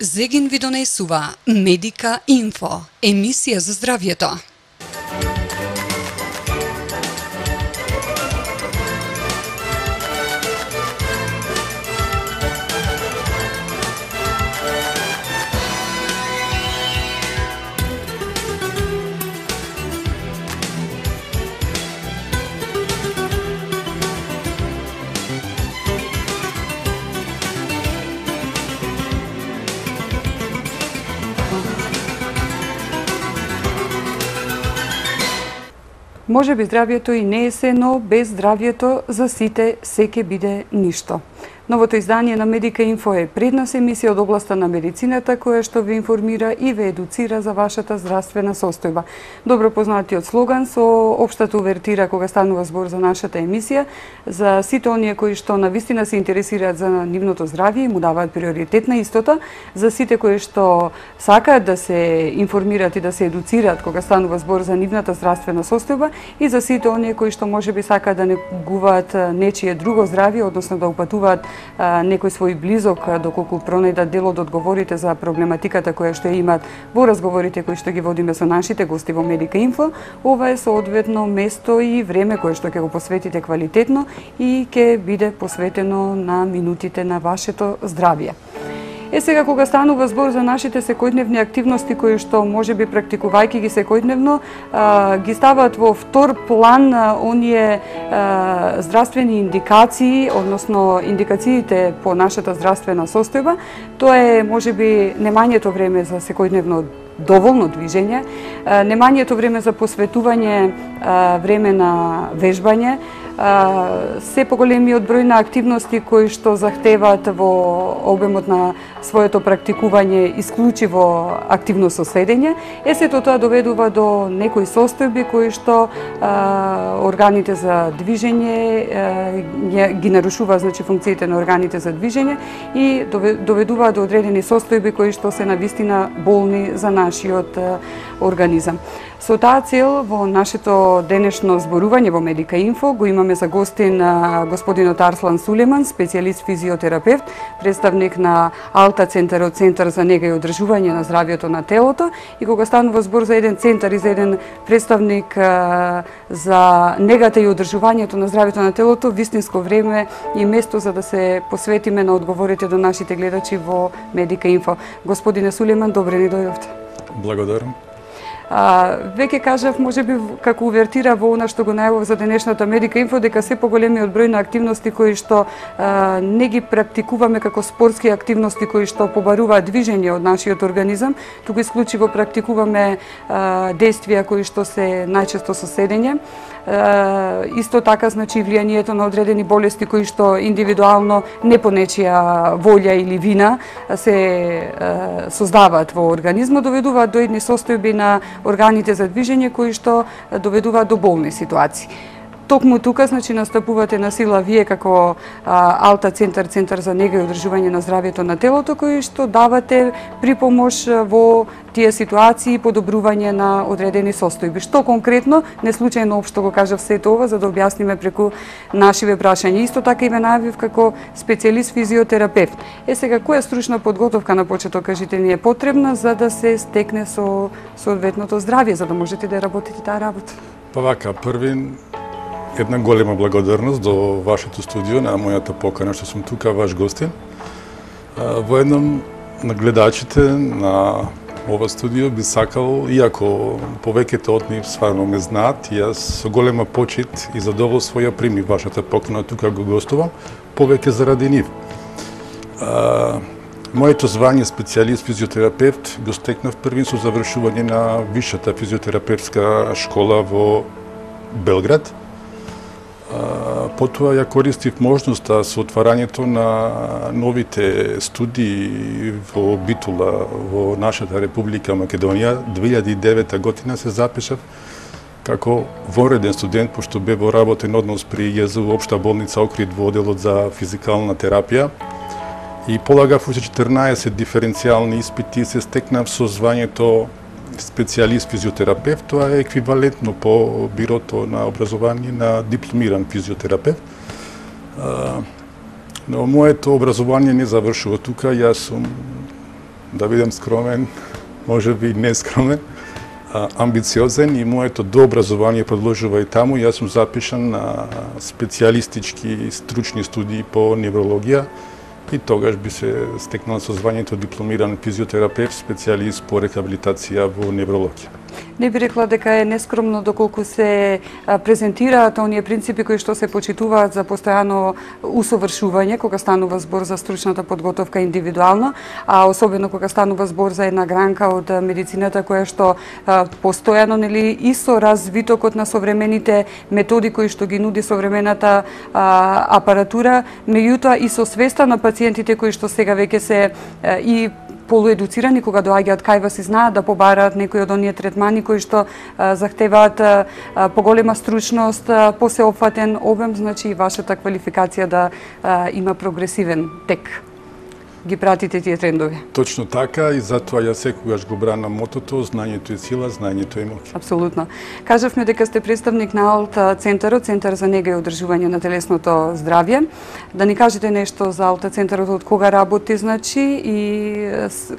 Зегин ви донесува Медика Инфо, емисија за здравјето. Може би здравјето и не е се, но без здравјето за сите се ќе биде ништо. Новото издание на Медика Инфо е пред нас емисија од областа на медицината која што ви информира и ве едуцира за вашата здравствена состојба. Добро познатиот слоган со општата увертира кога станува збор за нашата емисија, за сите оние кои што навистина се интересираат за нивното здравје и му даваат приоритет на истото, за сите кои што сакаат да се информираат и да се едуцираат кога станува збор за нивната здравствена состојба и за сите оние кои што можеби сакаат да негуваат нечие друго здравје, односно да упатуваат некој свој близок доколку пронајдат дел од одговорите за проблематиката која што имаат во разговорите кои што ги водиме со нашите гости во Медика Инфо. Ова е соодветно место и време кое што ќе го посветите квалитетно и ќе биде посветено на минутите на вашето здравје. Сега кога станува збор за нашите секојдневни активности кои што можеби практикувајќи ги секојдневно ги ставаат во втор план оние здравствени индикации, односно индикациите по нашата здравствена состојба. Тоа е можеби немањето време за секојдневно доволно движење, немањето време за посветување време на вежбање, се поголемиот број на активности кои што захтеваат во обемот на своето практикување исклучиво активно соседење, сето тоа доведува до некои состојби кои што органите за движење ги нарушува, значи функциите на органите за движење и доведува до одредени состојби кои што се навистина болни за нашиот организам. Со таа цел во нашето денешно зборување во Медика Инфо го имаме за гостин господинот Арслан Сулеман, специјалист физиотерапевт, представник на Алта центарот, центар за нега и одржување на здравјето на телото. И кога станува збор за еден центар и за еден представник за негата и одржувањето на здравјето на телото, вистинско време и место за да се посветиме на одговорите до нашите гледачи во Медика Инфо. Господине Сулеман, добре ни дојдовте. Благодарам. Веќе кажав, можеби како увертира во она што го најавив за денешната Медика Инфо, дека се поголемиот број на активности кои што не ги практикуваме како спортски активности кои што побаруваат движење од нашиот организам, туку исклучиво практикуваме действија кои што се најчесто со седење. Исто така, значи, влијанието на одредени болести кои што индивидуално не по нечија волја или вина се создаваат во организмот, доведуваат до едни состојби на органите за движење кои што доведуваат до болни ситуации. Токму тука, значи, настапувате на сила вие како Алта центар, центар за нега и одржување на здравјето на телото, кои што давате припомош во тие ситуации и подобрување на одредени состојби. Што конкретно, не случајно општо го кажав сето ова, за да објасниме преку нашиве прашања. Исто така и ве најавив како специјалист физиотерапевт. Сега, која стручна подготовка на почеток, кажите, ни е потребна за да се стекне со соодветното здравје, за да можете да работите таа работа? Па вака, први една голема благодарност до вашето студио, на мојата покана што сум тука, ваш гостин. Во едном на гледачите на ова студио би сакал, иако повеќето од нив стварно ме знаат, јас со голема почит и задоволство ја примив вашата покана, тука го гостувам, повеќе заради нив. Моето звање специјалист физиотерапевт го стекнав првин со завршување на висшата физиотерапевтска школа во Белград. Потоа ја користив можноста со отварањето на новите студии во Битула, во нашата Република Македонија. 2009 година се запишав како вонреден студент, пошто бе во работен однос при ЈЗУ Општа болница Охрид во оделот за физикална терапија. И полагав уште 14 диференцијални испити и се стекнав со звањето специјалист физиотерапевт. Тоа е еквивалентно по бирото на образование на дипломиран физиотерапевт. Но моето образование не завршува тука. Јас сум да бидам скромен, може би не скромен, амбициозен и моето дообразование продолжува и таму. Јас сум запишан на специјалистички стручни студии по неврологија и тогаш би се стекнал со звањето дипломиран физиотерапевт, специјалист по рехабилитација во неврологија. Не би рекла дека е нескромно доколку се презентираат оние принципи кои што се почитуваат за постојано усовршување кога станува збор за стручната подготовка индивидуално, а особено кога станува збор за една гранка од медицината која што постојано и со развитокот на современите методи кои што ги нуди современата апаратура, меѓутоа и со свеста на пациентите кои што сега веќе се и полуедуцирани кога доаѓаат кај вас и знаат да побараат некои од оние третмани кои што захтеваат поголема стручност, посеопфатен обем, значи и вашата квалификација да има прогресивен тек. Ги пратите тие трендови. Точно така и затоа ја секогаш го бранам мотото, знањето е сила, знањето е моќ. Апсолутно. Кажавме дека сте представник на АЛТ центарот, Центар за нега и одржување на телесното здравје. Да ни кажете нешто за АЛТ центарот, од кога работи, значи, и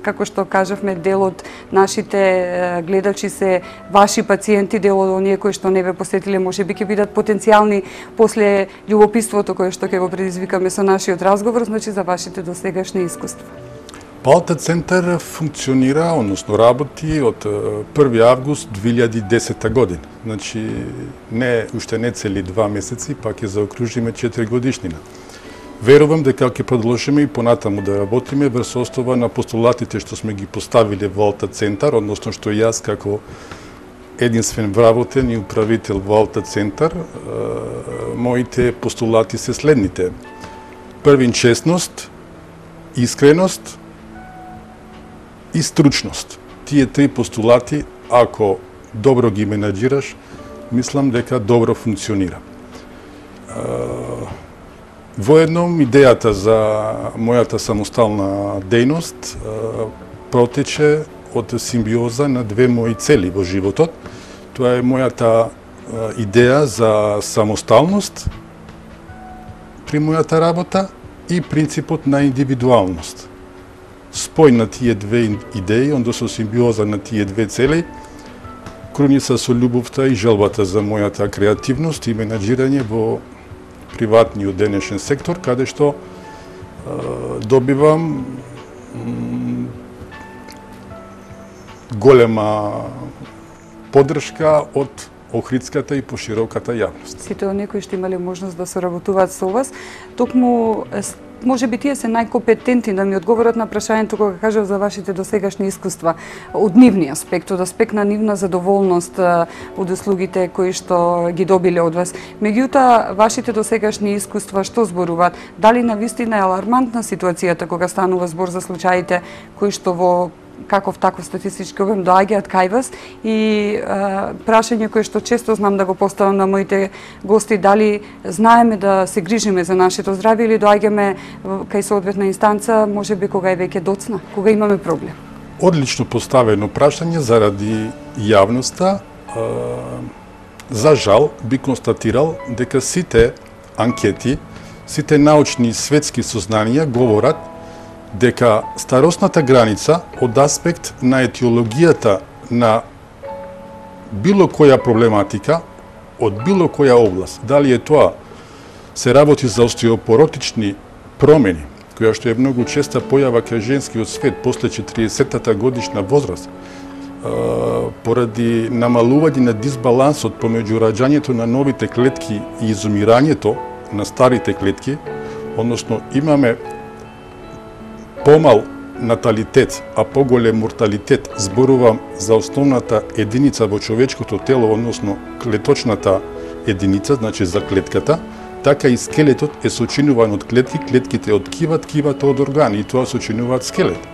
како што кажавме, дел од нашите гледачи се ваши пациенти, дел од оние кои што не ве посетиле, можеби ќе бидат потенцијални после љубопитството кое што ќе го предизвикаме со нашиот разговор, значи за вашите досегашни искуства. АЛТ центар функционира, односно работи од 1 август 2010 година. Значи, уште не цели 2 месеци, па ќе заокружиме 4 годишнина. Верувам дека ќе продолжиме и понатаму да работиме врз основа на постулатите што сме ги поставиле во АЛТ центар, односно што јас како единствен вработен и управител во АЛТ центар, моите постулати се следните. Првин, честност, искреност и стручност. Тие три постулати, ако добро ги менаџираш, мислам дека добро функционира. Воедно, идејата за мојата самостална дејност протече од симбиоза на две мои цели во животот. Тоа е мојата идеја за самосталност при мојата работа и принципот на индивидуалност. Спој на тие две идеи, ондо со симбиоза на тие две цели, круница со љубовта и желбата за мојата креативност и менаџирање во приватниот денешен сектор, каде што добивам голема поддршка од охридската и пошироката јавност. Сите оние кои што имале можност да соработуваат со вас, токму можеби тие се најкомпетентни да ми одговорат на прашањето кога кажав за вашите досегашни искуства од нивни аспект, од аспект на нивна задоволност од услугите кои што ги добиле од вас. Меѓутоа, вашите досегашни искуства што зборуваат? Дали навистина е алармантна ситуацијата кога станува збор за случаите кои што во каков таков статистички обем доаѓаат кај вас и прашање кое што често знам да го поставам на моите гости, дали знаеме да се грижиме за нашето здравје или доаѓаме кај соодветна инстанца, можеби кога е веќе доцна, кога имаме проблем? Одлично поставено прашање заради јавноста. За жал би констатирал дека сите анкети, сите научни и светски сознанија говорат дека старосната граница од аспект на етиологијата на било која проблематика, од било која област, дали е тоа се работи за остеопоротични промени, која што е многу честа појава кај женскиот свет после 40-та годишна возраст, поради намалување на дисбалансот помеѓу раѓањето на новите клетки и изумирањето на старите клетки, односно имаме помал наталитет, а поголем морталитет, зборувам за основната единица во човечкото тело, односно клеточната единица, значи за клетката, така и скелетот е сочинуван од клетки, клетките од ткива, ткивата од органи, и тоа сочинуваат скелет.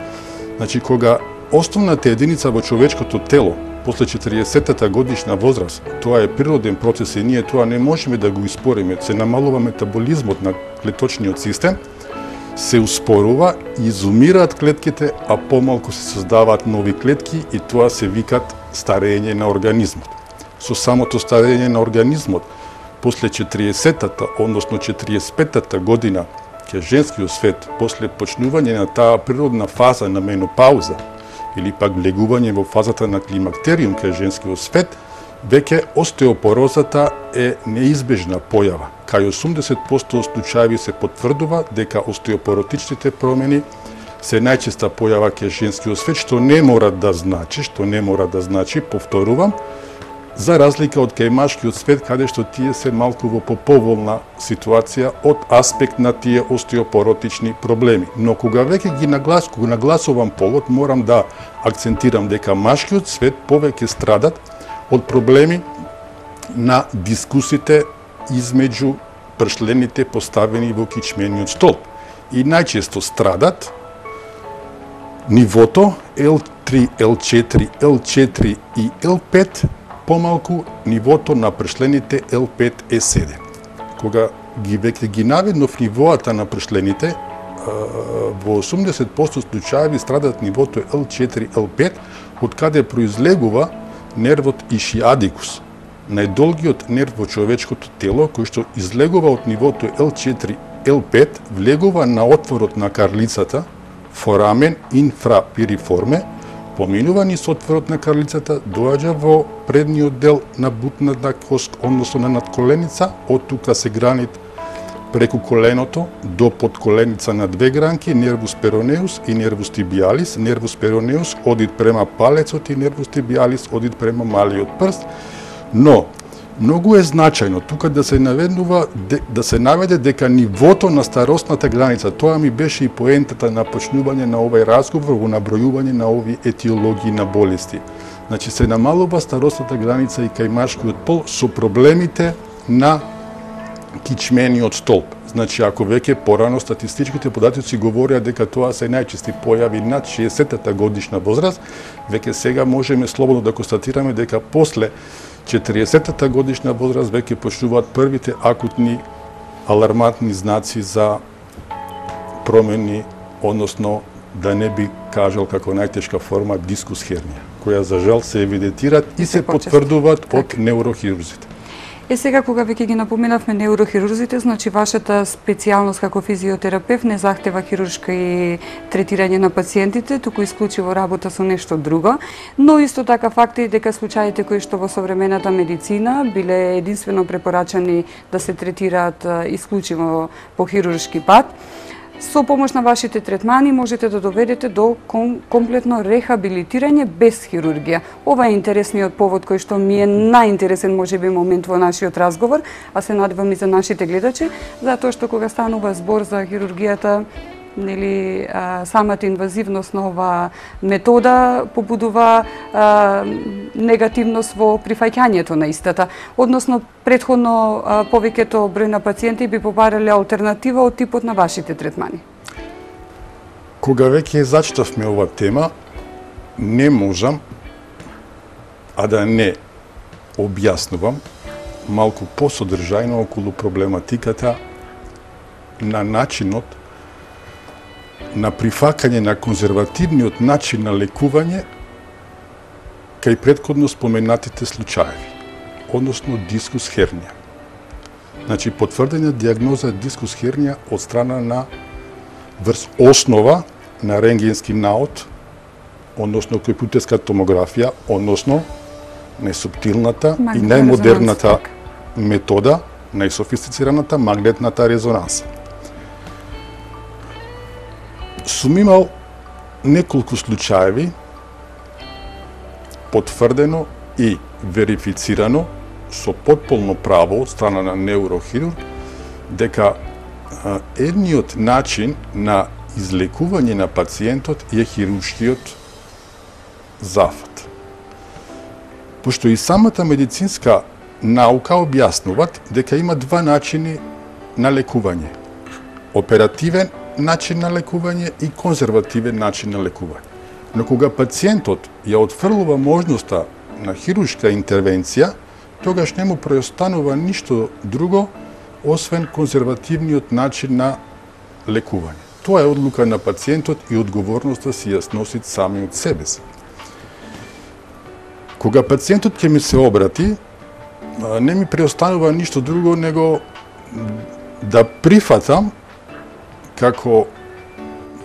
Значи, кога основната единица во човечкото тело, после 40-та годишна возраст, тоа е природен процес и ние тоа не можеме да го испориме, се намалува метаболизмот на клеточниот систем, се успорува, изумираат клетките, а помалку се создаваат нови клетки и тоа се викат старење на организмот. Со самото старење на организмот, после 40-та, односно 45-та година ке женскиот свет после почнување на таа природна фаза на менопауза или пак влегување во фазата на климактериум ке женскиот свет, веќе остеопорозата е неизбежна појава. Кај 80% случаи се потврдува дека остеопоротичните промени се најчеста појава ке женскиот свет, што не мора да значи, повторувам, за разлика од кај машкиот свет, каде што тие се малку во поповолна ситуација од аспект на тие остеопоротични проблеми. Но кога веќе кога нагласувам полот, морам да акцентирам дека машкиот свет повеќе страдат од проблеми на дискусите измеѓу пршлените поставени во кичмениот столб. И најчесто страдат нивото L3, L4, L4 и L5, помалку нивото на пршлените L5, E7. Кога веќе ги наведнов нивоата на пршлените, во 80% случаи страдат нивото L4, L5, од каде произлегува нервот ишиадикус, најдолгиот нерв во човечкото тело, кој што излегува од нивото L4, L5, влегува на отворот на карлицата, форамен инфрапириформе, поминува низ отворот на карлицата, доаѓа во предниот дел на бутната кост, односно на надколеница, од тука се гранит преку коленото до подколеница на две гранки, нервус перонеус и нервус тибиалис. Нервус перонеус одит према палецот и нервус тибиалис одит према малиот прст. Но многу е значајно тука да се наведе дека нивото на старосната граница, тоа ми беше и поентата на почнување на овој разговор во набројување на овие етиологии на болести. Значи се намалува старосната граница и кај машкиот пол со проблемите на кичмениот столб. Значи, ако веќе порано статистичките податоци говореа дека тоа се најчести појави над 60-та годишна возраст, веќе сега можеме слободно да констатираме дека после 40-та годишна возраст веќе почнуваат првите акутни алармантни знаци за промени, односно да не би кажал како најтешка форма дискус хернија, која за жал се евидентираат и се потврдуваат од неурохирурзите. Сега кога веќе ги напоменавме неурохирурзите, значи вашата специјалност како физиотерапевт не захтева хируршко и третирање на пациентите, туку исклучиво работа со нешто друго, но исто така факт е дека случаите кои што во современата медицина биле единствено препорачани да се третираат исклучиво по хируршки пат, со помош на вашите третмани можете да доведете до комплетно рехабилитирање без хирургија. Ова е интересниот повод кој што ми е најинтересен можеби момент во нашиот разговор, а се надевам и за нашите гледачи, затоа што кога станува збор за хирургијата, нели самата инвазивност на оваа метода побудува негативност во прифаќањето на истата. Односно, претходно повеќето број на пациенти би побарале алтернатива од типот на вашите третмани. Кога веќе зачитавме ова тема, не можам а да не објаснувам малку посодржајно околу проблематиката на начинот на прифакање на конзервативниот начин на лекување кај претходно споменатите случаи, односно дискус хернија. Значи, потврдена диагноза дискус хернија од страна на врз основа на рентгенски наод, односно компјутерска томографија, односно најсуптилната и најмодерната метода, најсофистицираната магнетната резонанса. Сум имал неколку случаеви потврдено и верифицирано со потполно право од страна на неурохирург дека едниот начин на излекување на пациентот е хируршкиот зафат. Пошто и самата медицинска наука објаснуваат дека има два начини на лекување. Оперативен начин на лекување и конзервативен начин на лекување. Но кога пациентот ја отфрлува можноста на хируршка интервенција, тогаш не му преостанува ништо друго освен конзервативниот начин на лекување. Тоа е одлука на пациентот и одговорноста си ја сноси самиот себе си. Кога пациентот ќе ми се обрати, не ми преостанува ништо друго него да прифатам како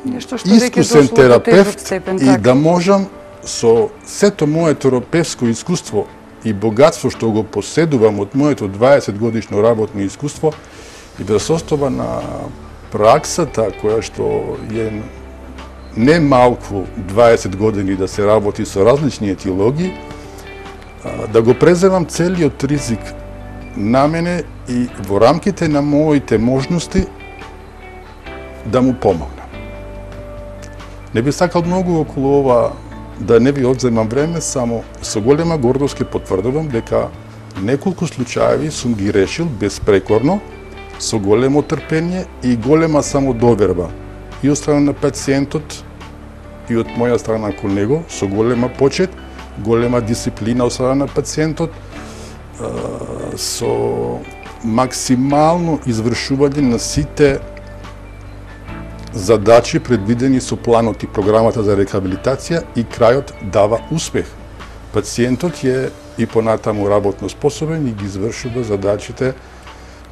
нешто што веќе искусен дошло до тежок терапевт степен, и да можам со сето мое терапевско искуство и богатство што го поседувам од моето 20 годишно работно искуство и без основа на праксата која што е не малку 20 години да се работи со различни етиологии, да го преземам целиот ризик на мене и во рамките на моите можности да му помогнам. Не би сакал многу околу ова да не ви одземам време, само со голема гордост ке потврдувам дека неколку случаеви сум ги решил безпрекорно, со големо трпение и голема самодоверба и од страна на пациентот и од моја страна кон него, со голема почет, голема дисциплина од страна на пациентот, со максимално извршување на сите задачи предвидени со планот и програмата за рехабилитација и крајот дава успех. Пациентот е и понатаму работно способен и ги извршува задачите,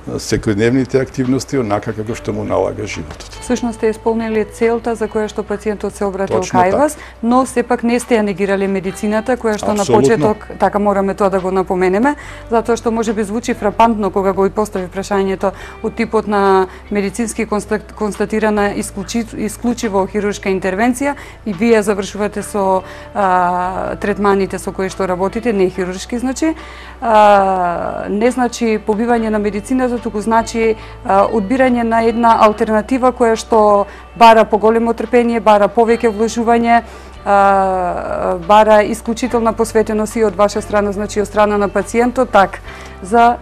секојдневните активности онака како што му налага животот. Всушност сте исполнили целта за која што пациентот се обратил Точно кај вас, но сепак не сте ја негирали медицината, која што Апсолутно. на почеток, така мораме тоа да го напоменеме, затоа што може би звучи фрапантно кога го и постави прашањето од типот на медицински констатирана исклучиво хируршка интервенција и вие завршувате со третманите со кои што работите, не хируршки значи, не значи побивање на медицината, туку значи одбирање на една алтернатива која што бара поголемо трпение, бара повеќе вложување, бара исклучителна посветеност и од ваша страна, значи од страна на пациентот, за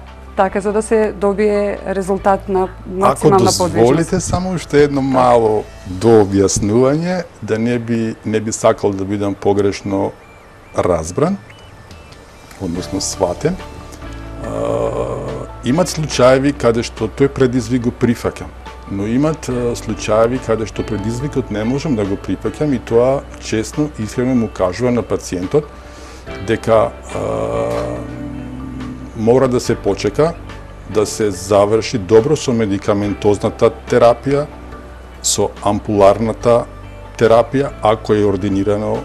да се добие резултат на максимална подвижност. Ако дозволите само уште едно мало дообјаснување, да не би сакал да бидам погрешно разбран, односно сватен. Имат случаеви каде што тој предизвик го прифаќам, но имат случаеви каде што предизвикот не можам да го прифаќам и тоа честно, искрено му кажува на пациентот дека мора да се почека, да се заврши добро со медикаментозната терапија, со ампуларната терапија, ако е ординирано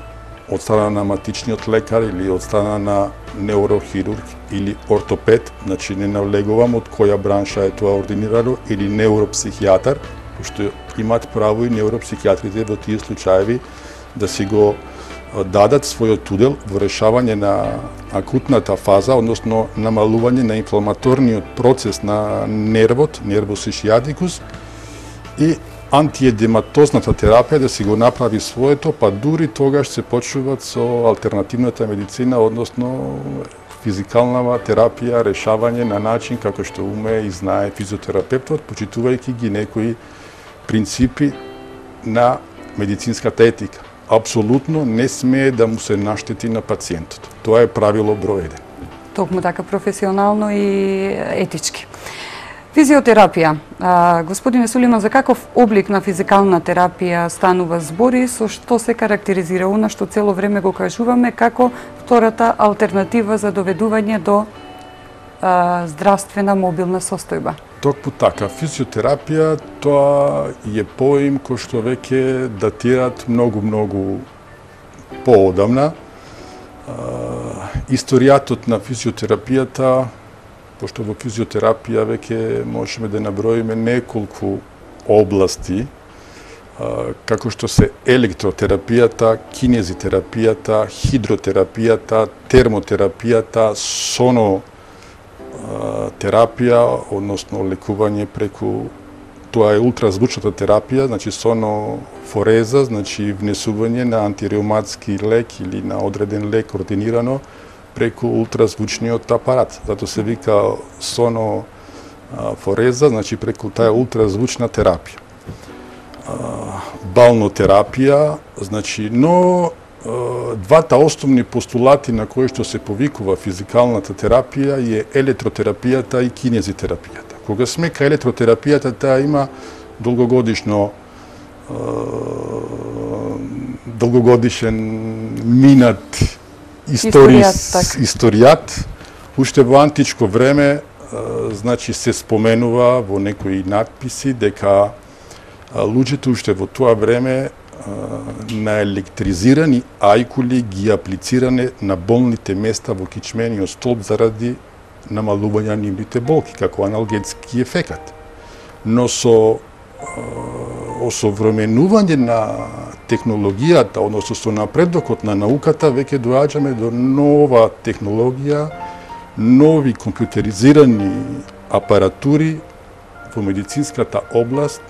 од страна на матичниот лекар или од страна на неурохирург или ортопед, значи не навлегувам од која бранша е тоа ординирано, или неуропсихијатар, пошто имаат право и неуропсихијатрите во тие случаеви да си го дадат својот удел во решавање на акутната фаза, односно намалување на инфламаторниот процес на нервус ишијатикус и антиедематозната терапија да си го направи своето, па дури тогаш се почнуваат со алтернативната медицина, односно физикална терапија, решавање на начин како што умее и знае физиотерапевтот, почитувајќи ги некои принципи на медицинската етика. Апсолутно не смее да му се наштети на пациентот. Тоа е правило број 1. Токму така професионално и етички. Физиотерапија. Господине Сулейман, за каков облик на физикална терапија станува збори, со што се карактеризира она што цело време го кажуваме како втората алтернатива за доведување до здравствена мобилна состојба? Токму така, физиотерапија тоа е поим кој што веќе датираат многу поодамна. Историјатот на физиотерапијата, пошто во физиотерапија веќе можеме да наброиме неколку области, како што се електротерапијата, кинезитерапијата, хидротерапијата, термотерапијата, сонотерапија, односно лекување преку, тоа е ултразвучната терапија, значи сонофореза, значи внесување на антиреуматски лек или на одреден лек ординирано преку ултразвучниот апарат. Зато се вика сонофореза, значи преку таа ултразвучна терапија. Балнотерапија, значи, но двата основни постулати на кои што се повикува физикалната терапија е електротерапијата и кинезитерапијата. Кога сме кај електротерапијата, таа има долгогодишен минат историјат. Уште во античко време, значи, се споменува во некои надписи дека луѓето уште во тоа време на електризирани ајкули ги аплициране на болните места во кичмениот столб заради намалување нивните болки, како аналгетски ефекат. Но со осовременување на технологијата, односно со напредокот на науката, веќе доаѓаме до нова технологија, нови компјутеризирани апаратури во медицинската област,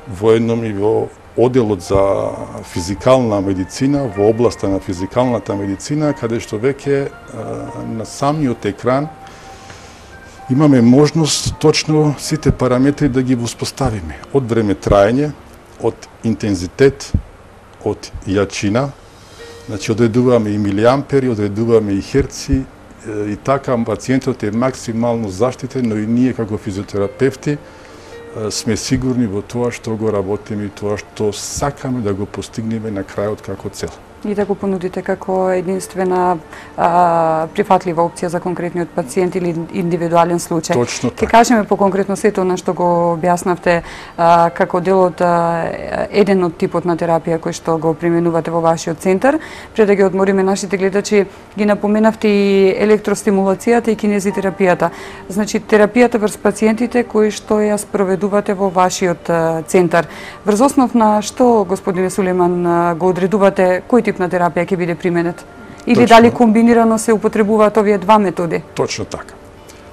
воедно и во оделот за физикална медицина, во областа на физикалната медицина, каде што веќе на самиот екран имаме можност точно сите параметри да ги воспоставиме. Од време траење, од интензитет, од јачина, значи одредуваме и милиампери, одредуваме и херци, и така пациентот е максимално заштитен, но и ние како физиотерапевти сме сигурни во тоа што го работиме и тоа што сакаме да го постигнеме на крајот како цел. И да го понудите како единствена прифатлива опција за конкретниот пациент или индивидуален случај. Точно така. Ке кажеме поконкретно сето на што го објаснавте како дел од еден од типот на терапија кој што го применувате во вашиот центар. Пред да ги одмориме нашите гледачи, ги напоменавте и електростимулацијата и кинезитерапијата. Значи терапијата врз пациентите кои што ја спроведувате во вашиот центар. Врз основ на што, господине Сулейман, го одредувате кој тип на терапија ќе биде применет? Или Точно. дали комбинирано се употребуваат овие два методи? Точно така.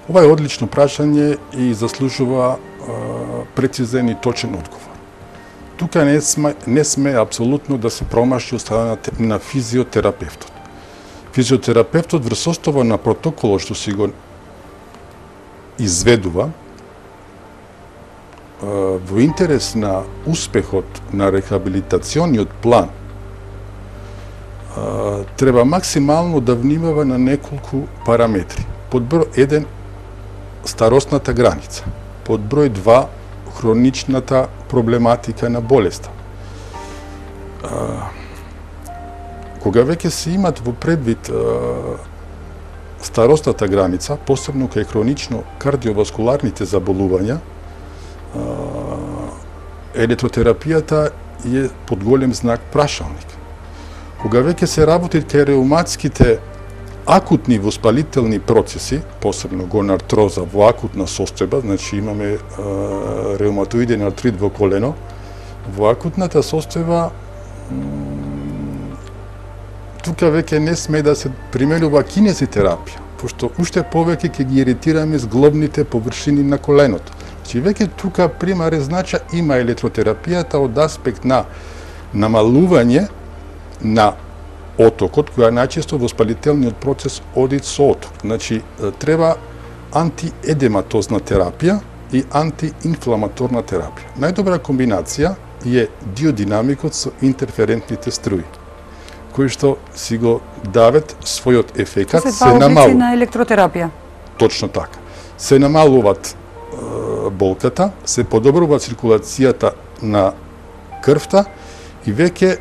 Ова е одлично прашање и заслужува прецизен и точен одговор. Тука не сме апсолутно да се промаши од страна на физиотерапевтот. Физиотерапевтот врз основа на протоколот што си го изведува во интерес на успехот на рехабилитациониот план треба максимално да внимава на неколку параметри. Под број 1 старосната граница, под број 2 хроничната проблематика на болеста. Кога веќе се имат во предвид старосната граница, посебно кај хронично кардиоваскуларните заболувања, електротерапијата е под голем знак прашалник. Кога веќе се работи кај реуматските акутни воспалителни процеси, посебно гонартроза во акутна состојба, значи имаме реуматоиден артрит во колено, во акутната состојба тука веќе не сме да се применува кинезитерапија, пошто уште повеќе ќе ги иритираме зглобните површини на коленото. Значи веќе тука примарен значај има електротерапијата од аспект на намалување на отокот, која најчесто воспалителниот процес оди со оток. Значи, треба антиедематозна терапија и антиинфламаторна терапија. Најдобра комбинација е диодинамикот со интерферентните струи, кои што си го дават својот ефекат, се намалуваат на електротерапија. Точно така. Се намалуваат болката, се подобрува циркулацијата на крвта и веќе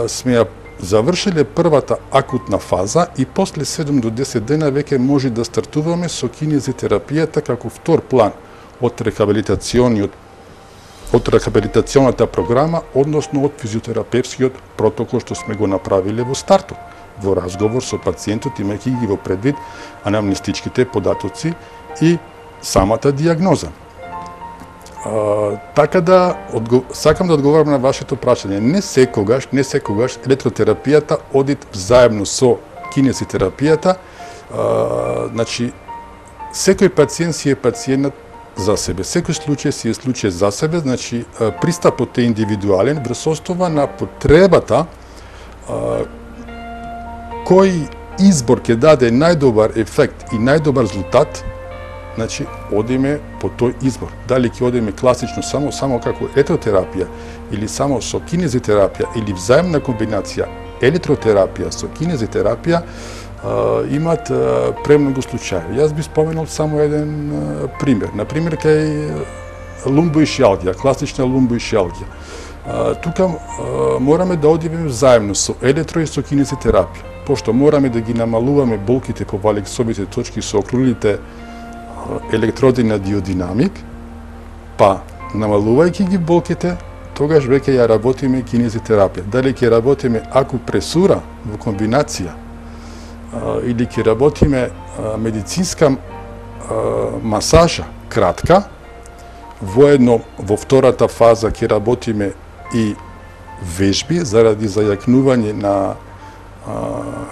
сме ја завршиле првата акутна фаза и после 7 до 10 дена веќе може да стартуваме со кинезитерапијата како втор план од рехабилитационата програма, односно од физиотерапевскиот протокол што сме го направиле во стартот, во разговор со пациентот, имајќи ги во предвид анамнестичките податоци и самата диагноза. Така да сакам да одговорам на вашето прашање. Не секогаш електротерапијата оди заедно со кинезитерапијата. Значи, секој пациент си е пациент за себе. Секој случај си е случај за себе, значи пристапот е индивидуален врз основа на потребата кој избор ќе даде најдобар ефект и најдобар резултат. Значи, одиме по тој избор. Дали ќе одиме класично само како електротерапија или само со кинезитерапија или взаимна комбинација електротерапија со кинезитерапија, имат премногу случаи. Јас би споменал само еден пример. Например, кај лумбоишијалгија, класична лумбоишијалгија. Тука мораме да одиме заедно со електро и со кинезитерапија, пошто мораме да ги намалуваме болките по валексовите точки со окрулите електроди на диодинамик, па намалувајќи ги болките, тогаш веќе ја работиме кинезитерапија. Дали ќе работиме акупресура во комбинација или ќе работиме медицинска масажа кратка, воедно во втората фаза ќе работиме и вежби заради зајакнување на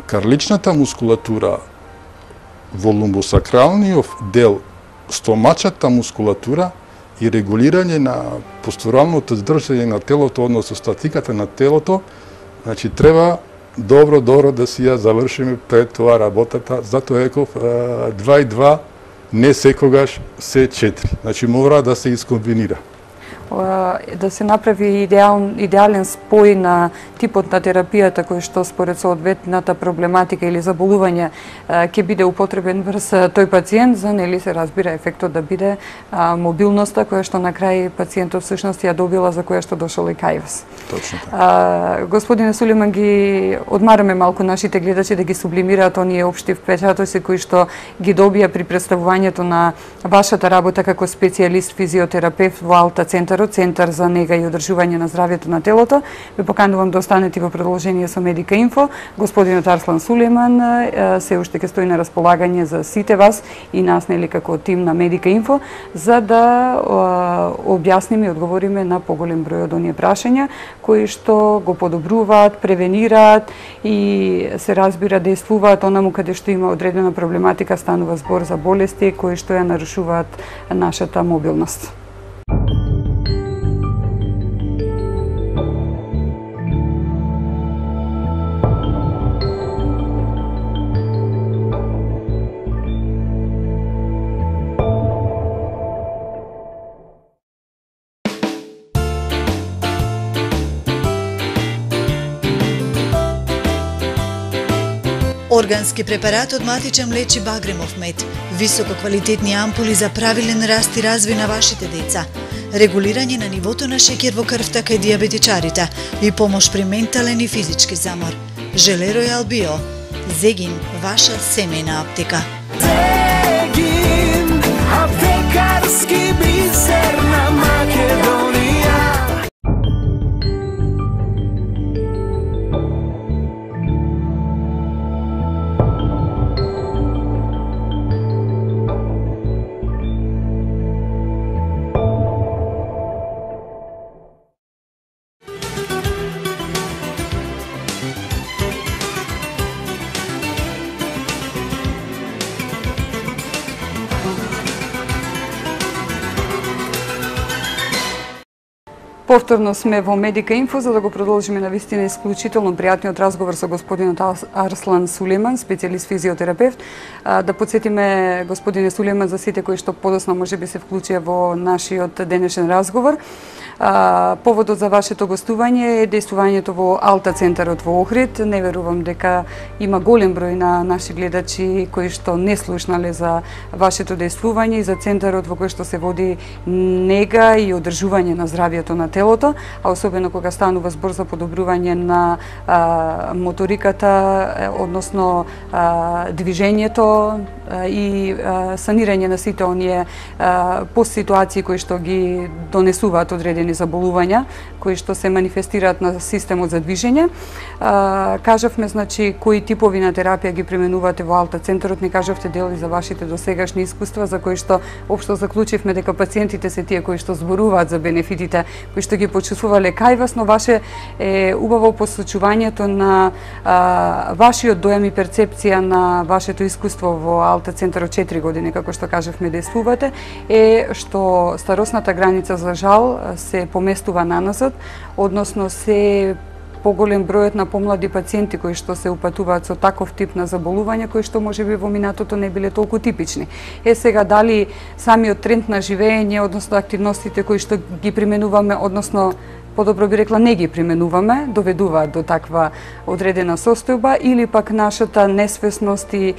карличната мускулатура во лумбосакралниот дел, стомачата мускулатура и регулирање на постуралното здржање на телото, односно статиката на телото. Значи, треба добро да си ја завршиме пред тоа работата, затоа еков 2 и 2 не секогаш се 4. Значи, мора да се искомбинира. Да се направи идеален спој на типот на терапијата кој што според соодветната проблематика или заболување ќе биде употребен врз тој пациент, за нели се разбира ефектот да биде мобилноста која што на крај пациентот всушност ја добила, за која што дошол и кај вас. Точно така. Господине Сулейман, ги одмараме малку нашите гледачи да ги сублимираат оние општи впечатоци кои што ги добија при представувањето на вашата работа како специјалист физиотерапевт во Алта Центар, Центар за нега и одржување на здравјето на телото. Ве поканувам да останете во продолжение со Медика Инфо. Господинот Арслан Сулейман се уште ќе стои на располагање за сите вас и нас, нели, како тим на Медика Инфо, за да објасниме и одговориме на поголем број од оние прашања кои што го подобруваат, превенираат и се разбира действуваат онаму каде што има одредена проблематика, станува збор за болести кои што ја нарушуваат нашата мобилност. Органски препарат од Матича млечи Багремов мед, висококвалитетни ампули за правилен раст и развој на вашите деца, регулирање на нивото на шеќер во крвта кај диабетичарите и помош при ментален и физички замор. Желе Ројал Био. Зегин, ваша семејна аптека. Зегин, аптекарски бисер на Македонија. Повторно сме во Медика Инфо за да го продолжиме на вистина исклучително пријатниот разговор со господинот Арслан Сулейман, специјалист физиотерапевт. Да подсетиме господине Сулейман за сите кои што подоцна можеби се вклучија во нашиот денешен разговор. Поводот за вашето гостување е действувањето во Алта Центарот во Охрид. Не верувам дека има голем број на наши гледачи кои што не слушнале за вашето действување и за центарот во кој што се води нега и одржување на здравјето на телото, а особено кога станува збор за подобрување на моториката, односно движењето и санирање на сите оние постситуации кои што ги донесуваат одредени заболувања кои што се манифестираат на системот за движење. Кажавме, значи, кои типови на терапија ги применувате во Алта Центарот, не кажавте дели за вашите досегашни искуства, за кои што општо заклучивме дека пациентите се тие кои што зборуваат за бенефитите, кои што ги почувствувале кај вас, но ваше е убаво посочувањето на вашиот дојам и перцепција на вашето искуство во Алта Центарот 4 години, како што кажавме, действувате, е што старосната граница за жал се поместува наназад, односно се поголем бројот на помлади пациенти кои што се упатуваат со таков тип на заболување кои што можеби во минатото не биле толку типични. Сега дали самиот тренд на живење, односно активностите кои што ги применуваме, односно подобро би рекла не ги применуваме, доведуваат до таква одредена состојба, или пак нашата несвесност и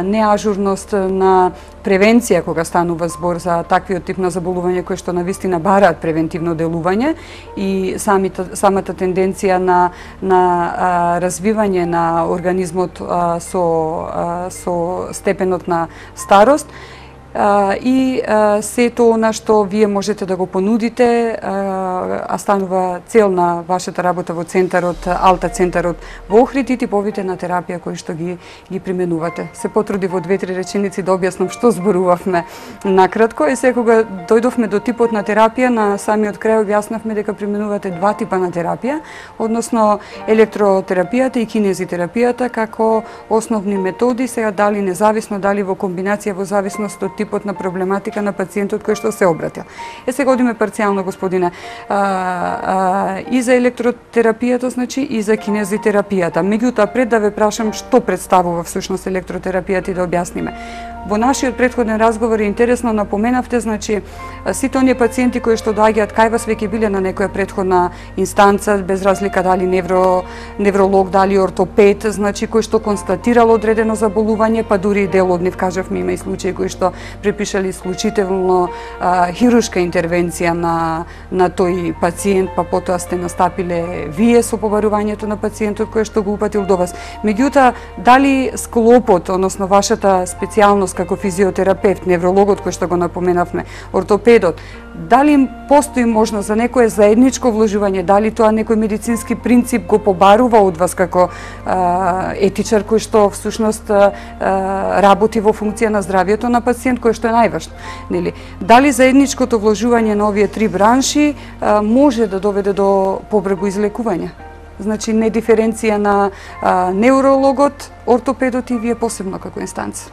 неажурност на превенција кога станува збор за таквиот тип на заболување кои што навистина бараат превентивно делување и самата тенденција на развивање на организмот со степенот на старост и сето она што вие можете да го понудите, а станува цел на вашата работа во центарот, Алта центарот во Охрид и типовите на терапија кои што ги применувате. Се потруди во 2-3 реченици да објаснам што зборувавме накратко и секога дојдовме до типот на терапија, на самиот крај објаснавме дека применувате два типа на терапија, односно електротерапијата и кинезитерапијата како основни методи, сега дали независно, дали во комбинација, во зависност од типот на проблематика на пациентот кој што се обратил. Сега одиме парцијално, господине, и за електротерапијата, значи, и за кинезитерапијата. Меѓутоа, пред да ве прашам што представува всушност електротерапијата и да објасниме. Во нашиот претходен разговор е интересно напоменавте, значи, сите оние пациенти кои што доаѓаат кај вас веќе биле на некоја претходна инстанца, без разлика дали невролог, дали ортопед, значи, кој што констатирал одредено заболување, па дури и дел од нив, кажавме, има и случаи кои што препишале исклучително хируршка интервенција на тој пациент, па потоа сте настапиле вие со побарувањето на пациентот кој што го упатил до вас. Меѓутоа, дали склопот, односно вашата специјалност како физиотерапевт, неврологот кој што го напоменавме, ортопедот, дали постои можност за некое заедничко вложување, дали тоа некој медицински принцип го побарува од вас како етичар кој што всушност работи во функција на здравјето на пациент, кој што е најважно, нели? Дали заедничкото вложување на овие три бранши може да доведе до побрзо излекување? Значи, не диференција на неврологот, ортопедот и вие посебно како инстанца.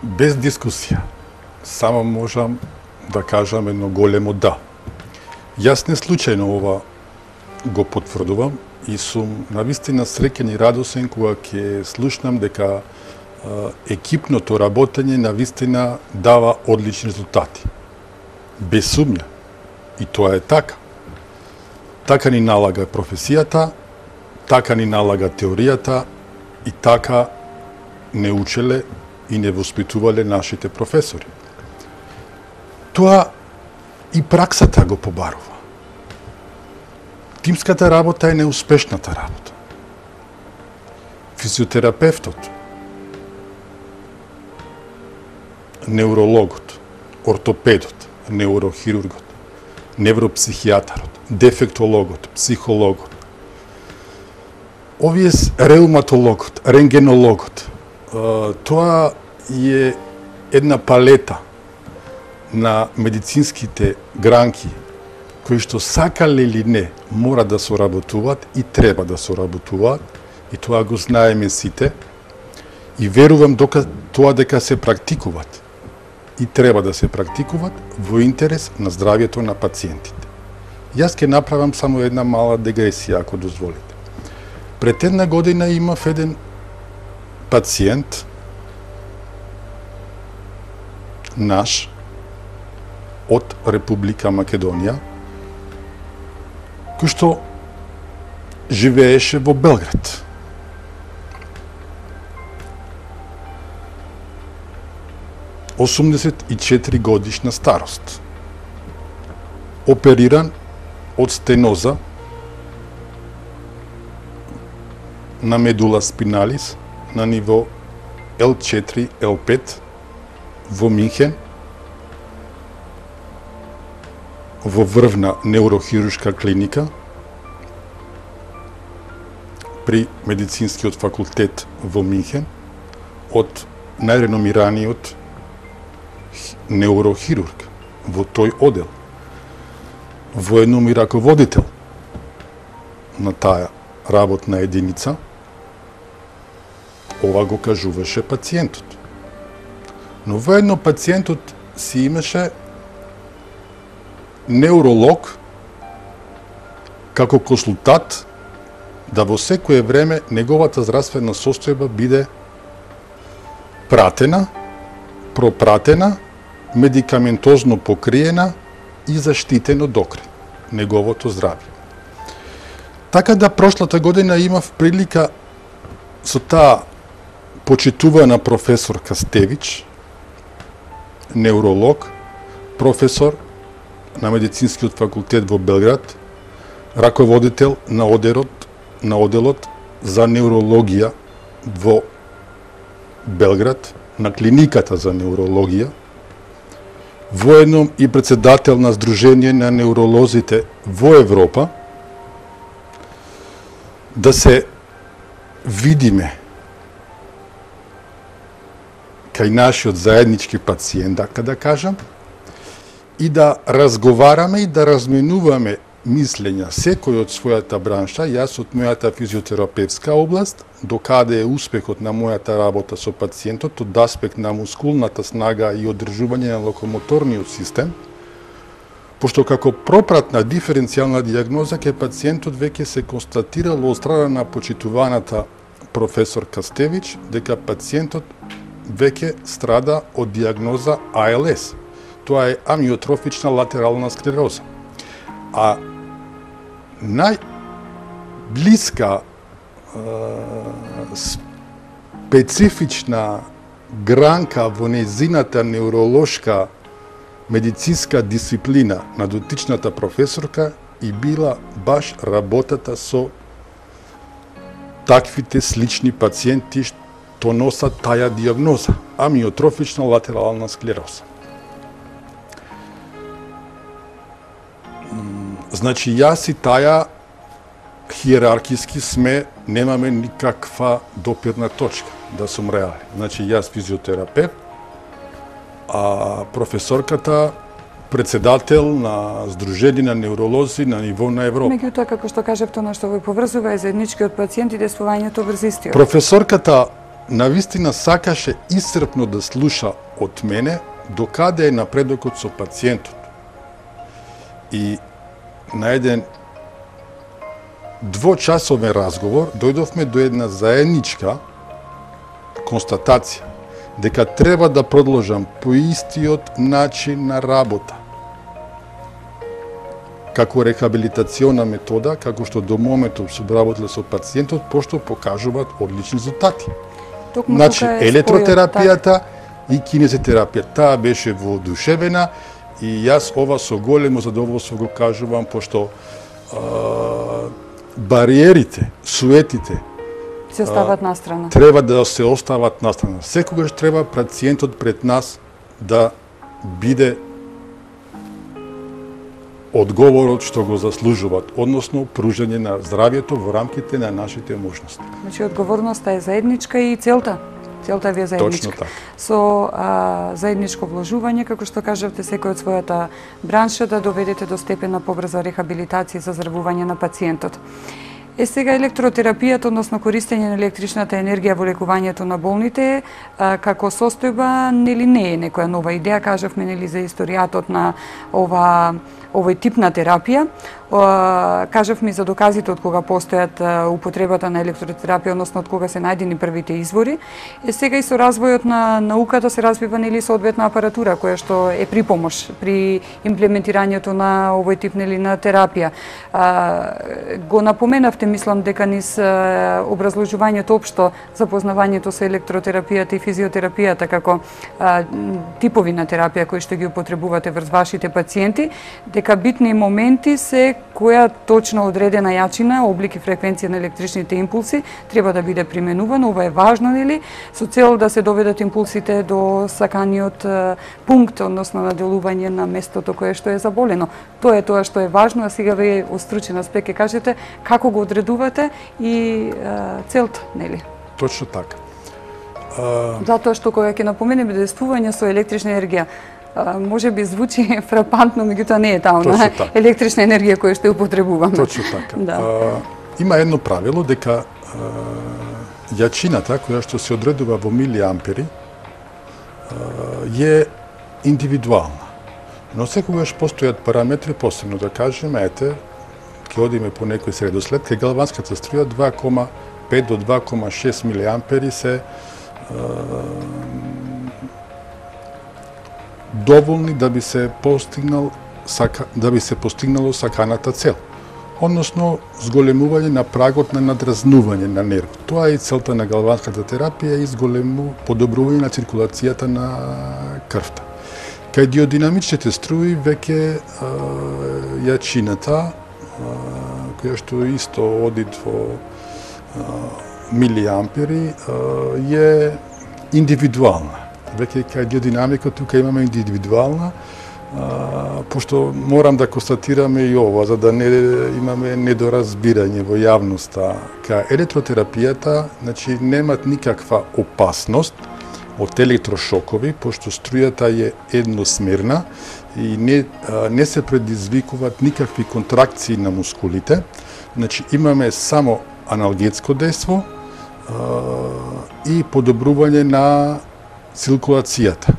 Без дискусија, само можам да кажам едно големо да. Јас не случајно ова го потврдувам и сум навистина среќен и радосен кога ќе слушнам дека екипното работење навистина дава одлични резултати. Без сумња. И тоа е така. Така ни налага професијата, така ни налага теоријата и така не учеле и не воспитувале нашите професори. Тоа и праксата го побарува. Тимската работа е неуспешната работа. Физиотерапевтот, неврологот, ортопедот, неврохирургот, невропсихијатарот, дефектологот, психологот, овие реуматологот, рентгенологот, тоа е една палета на медицинските гранки кои што сакале или не мора да соработуваат и треба да соработуваат и тоа го знаеме сите и верувам дека се практикуваат и треба да се практикуваат во интерес на здравјето на пациентите. Јас ќе направам само една мала дегресија, ако дозволите. Пред една година имав еден пациент наш од Република Македонија кој што живееше во Белград. ...84 годишна старост. Опериран од стеноза на медула спиналис на ниво L4, L5 во Минхен, во врвна неврохируршка клиника при медицинскиот факултет во Минхен од најреномираниот неврохирург во тој одел, воено и раководител на таа работна единица. Ова го кажуваше пациентот. Но воедно пациентот си имаше невролог како консултант да во секое време неговата здравствена состојба биде пратена, пропратена, медикаментозно покриена и заштитено докрај неговото здравје. Така да прошлата година имав прилика со таа почитувана професор Кастевич, невролог, професор на медицинскиот факултет во Белград, раководител на оделот за неврологија во Белград, на клиниката за неурологија, воедно и председател на Сдружение на неуролозите во Европа, да се видиме кај нашиот заеднички пациент, да кажам, и да разговараме и да разменуваме мислења, секој од својата бранша, јас од мојата физиотерапевтска област, докаде е успехот на мојата работа со пациентот, од аспект на мускулната снага и одржување на локомоторниот систем, пошто како пропратна диференцијална дијагноза кај пациентот веќе се констатирало од страна на почитуваната професор Кастевич дека пациентот веќе страда од дијагноза АЛС. Тоа е амиотрофична латерална склероза. А најблиска специфична гранка во нејзината неуролошка медицинска дисциплина на дотичната професорка и била баш работата со таквите слични пациенти што носат таја дијагноза, амиотрофична латерална склероза. Значи, јас и таја хиерархиски немаме никаква допирна точка, да сум реален. Значи, јас физиотерапевт, а професорката председател на Сдружение на неуролози на ниво на Европа. Меѓутоа, како што кажавте, она што ве поврзува е заедничкиот пациент и действувањето врз истиот. Професорката навистина сакаше исцрпно да слуша од мене докаде е напредокот со пациентот. И на еден двочасовен разговор дојдовме до една заедничка констатација дека треба да продолжам по истиот начин на работа како рехабилитациона метода, како што до моментот сум работел со пациентот, пошто покажуваат одлични резултати. Значи, електротерапијата и кинезитерапијата, таа беше воодушевена и јас ова со големо задоволство го кажувам, пошто бариерите, суетите се остават настрана. Треба да се остават настрана. Секогаш треба пациентот пред нас да биде одговорот што го заслужуваат, односно пружање на здравјето во рамките на нашите можности. Значи, одговорноста е заедничка и целта ви е заедничка. Точно така. Со заедничко вложување, како што кажавте, секој од својата бранша да доведете до степен на побрза рехабилитација и заздравување на пациентот. Сега електротерапијата, односно користење на електричната енергија во лекувањето на болните, како состојба, нели не е некоја нова идеја, кажавме нели за историјатот на овој тип на терапија. Кажавме за доказите од кога постојат употребата на електротерапија, односно од кога се најдени првите извори. Сега и со развојот на науката се развива нели соодветна апаратура која што е при помош при имплементирањето на овој тип нели на терапија. Го напоменавте, мислам дека низ образложувањето општо запознавањето со електротерапијата и физиотерапијата како типови на терапија кои што ги употребувате врз вашите пациенти, дека битни моменти се која точно одредена јачина, облик и фреквенција на електричните импулси треба да биде применувана. Ова е важно, нели, со цел да се доведат импулсите до саканиот пункт, односно на делување на местото кое што е заболено. Тоа е тоа што е важно, а сега вие од стручен аспект ќе кажете како го одредувате и целта, нели? Точно така. Затоа што кога ќе напоменеме действување со електрична енергија, може би звучи фрапантно, меѓутоа не е таа електрична енергија која што ја употребуваме. Точно така. Да. Има едно правило дека јачината која што се одредува во милиампери е индивидуална. Но секогаш постојат параметри, посебно да кажеме, ете, ќе одиме по некој средослед, кај галванската струја 2,5 до 2,6 милиампери се доволни да би се постигнало саканата цел, односно зголемување на прагот на надразнување на нервот. Тоа е и целта на галванската терапија и подобрување на циркулацијата на крвта. Кај диодинамичните струи веќе јачината, која што исто оди во милиампери, е индивидуална. веќе кај биодинамика тука имаме индивидуална, пошто морам да констатираме и ова, за да не имаме недоразбирање во јавноста. Кај електротерапијата, значи, немат никаква опасност од електрошокови, пошто струјата е едносмерна и не се предизвикуваат никакви контракции на мускулите. Значи, имаме само аналгетско дејство и подобрување на циркулацијата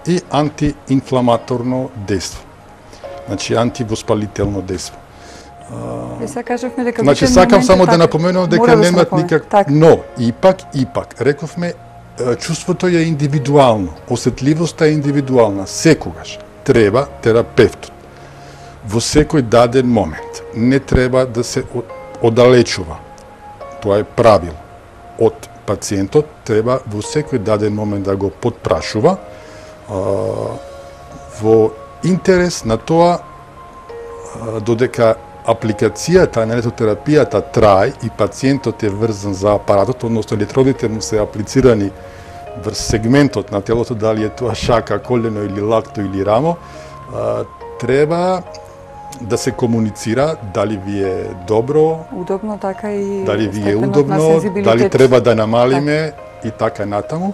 и антиинфламаторно дејство. Значи, антивоспалително дејство. Сега кажавме дека значи, сакам само да напоменувам дека немат никак... Но, ипак, рековме, чувството е индивидуално, осетливоста е индивидуална. Секогаш треба терапевтот во секој даден момент не треба да се оддалечува. Тоа е правило. Од пациентот треба во секој даден момент да го потпрашува во интерес на тоа додека апликацијата на електротерапијата трае и пациентот е врзан за апаратот, односно електродите му се аплицирани врз сегментот на телото, дали е тоа шака, колено или лакто или рамо, треба да се комуницира дали ви е добро, удобно, така и дали ви е удобно, дали треба да намалиме и така натаму.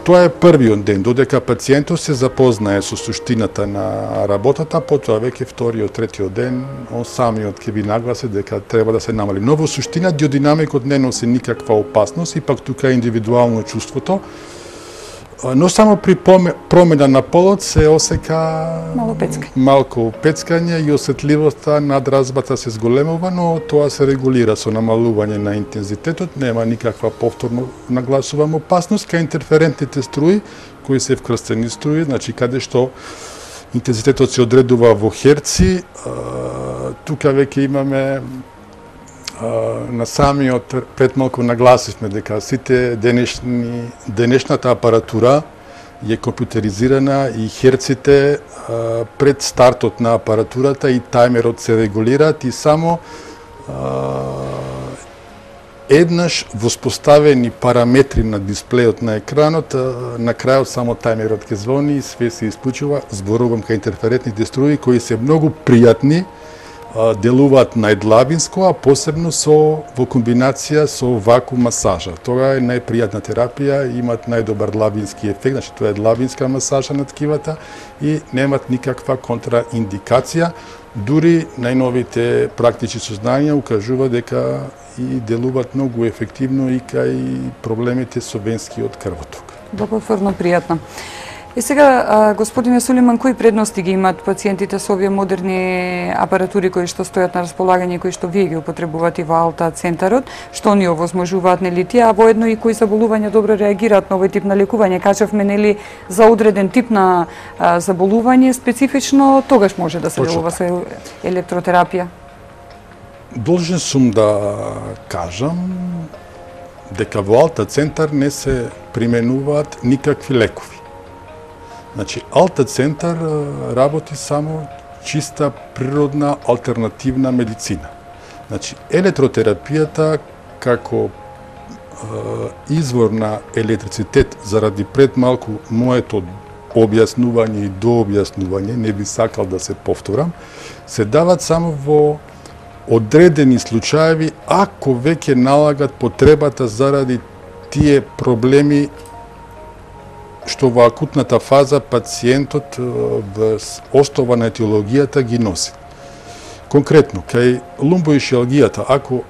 Тоа е првиот ден, додека пациентот се запознае со суштината на работата, потоа веќе вториот, третиот ден, он самиот ќе ви нагласи дека треба да се намали. Но во суштина биодинамикот не носи никаква опасност, и пак тука е индивидуално чувството, но само при промена на полот се осека малку пецкање и осетливоста, надразбата се зголемува, но тоа се регулира со намалување на интензитетот, нема никаква повторно нагласувам опасност. Кај интерферентните струи, кои се вкрстени струи, значи каде што интензитетот се одредува во херци, тука веќе имаме на самиот пред малку нагласивме дека сите денешната апаратура е компјутеризирана и херците пред стартот на апаратурата и тајмерот се регулираат и само еднаш воспоставени параметри на дисплејот на екранот, на крајот само тајмерот ќе звони и све се исклучува. Зборувам кај интерферентните струи кои се многу пријатни, делуваат најдлабинско, а посебно во комбинација со вакуум масажа. Тоа е најпријатна терапија, имат најдобар длабински ефект, значи тоа е длабинска масажа на ткивата и немат никаква контраиндикација. Дури најновите практични сознања укажува дека и делуваат многу ефективно и кај проблемите со венскиот крвоток. Благотворно пријатно. И сега, господине Сулейман, кои предности ги имаат пациентите со овие модерни апаратури кои што стојат на располагање, кои што вие ги употребувате во Алта центарот, што ни овозможуваат, нели тие, а воедно и кои заболувања добро реагираат на овој тип на лекување? Кажавме, нели, за одреден тип на заболување специфично, тогаш може да се делува со електротерапија? Должен сум да кажам дека во Алта центар не се применуваат никакви лекови. Значи, Алта центар работи само чиста природна алтернативна медицина. Значи, електротерапијата како извор на електрицитет, заради пред малку моето објаснување и дообјаснување, не би сакал да се повторам, се дават само во одредени случаеви, ако веќе налагат потребата заради тие проблеми што во акутната фаза пациентот врз основа на етиологијата ги носи. Конкретно, кај лумбоишиалгијата, ако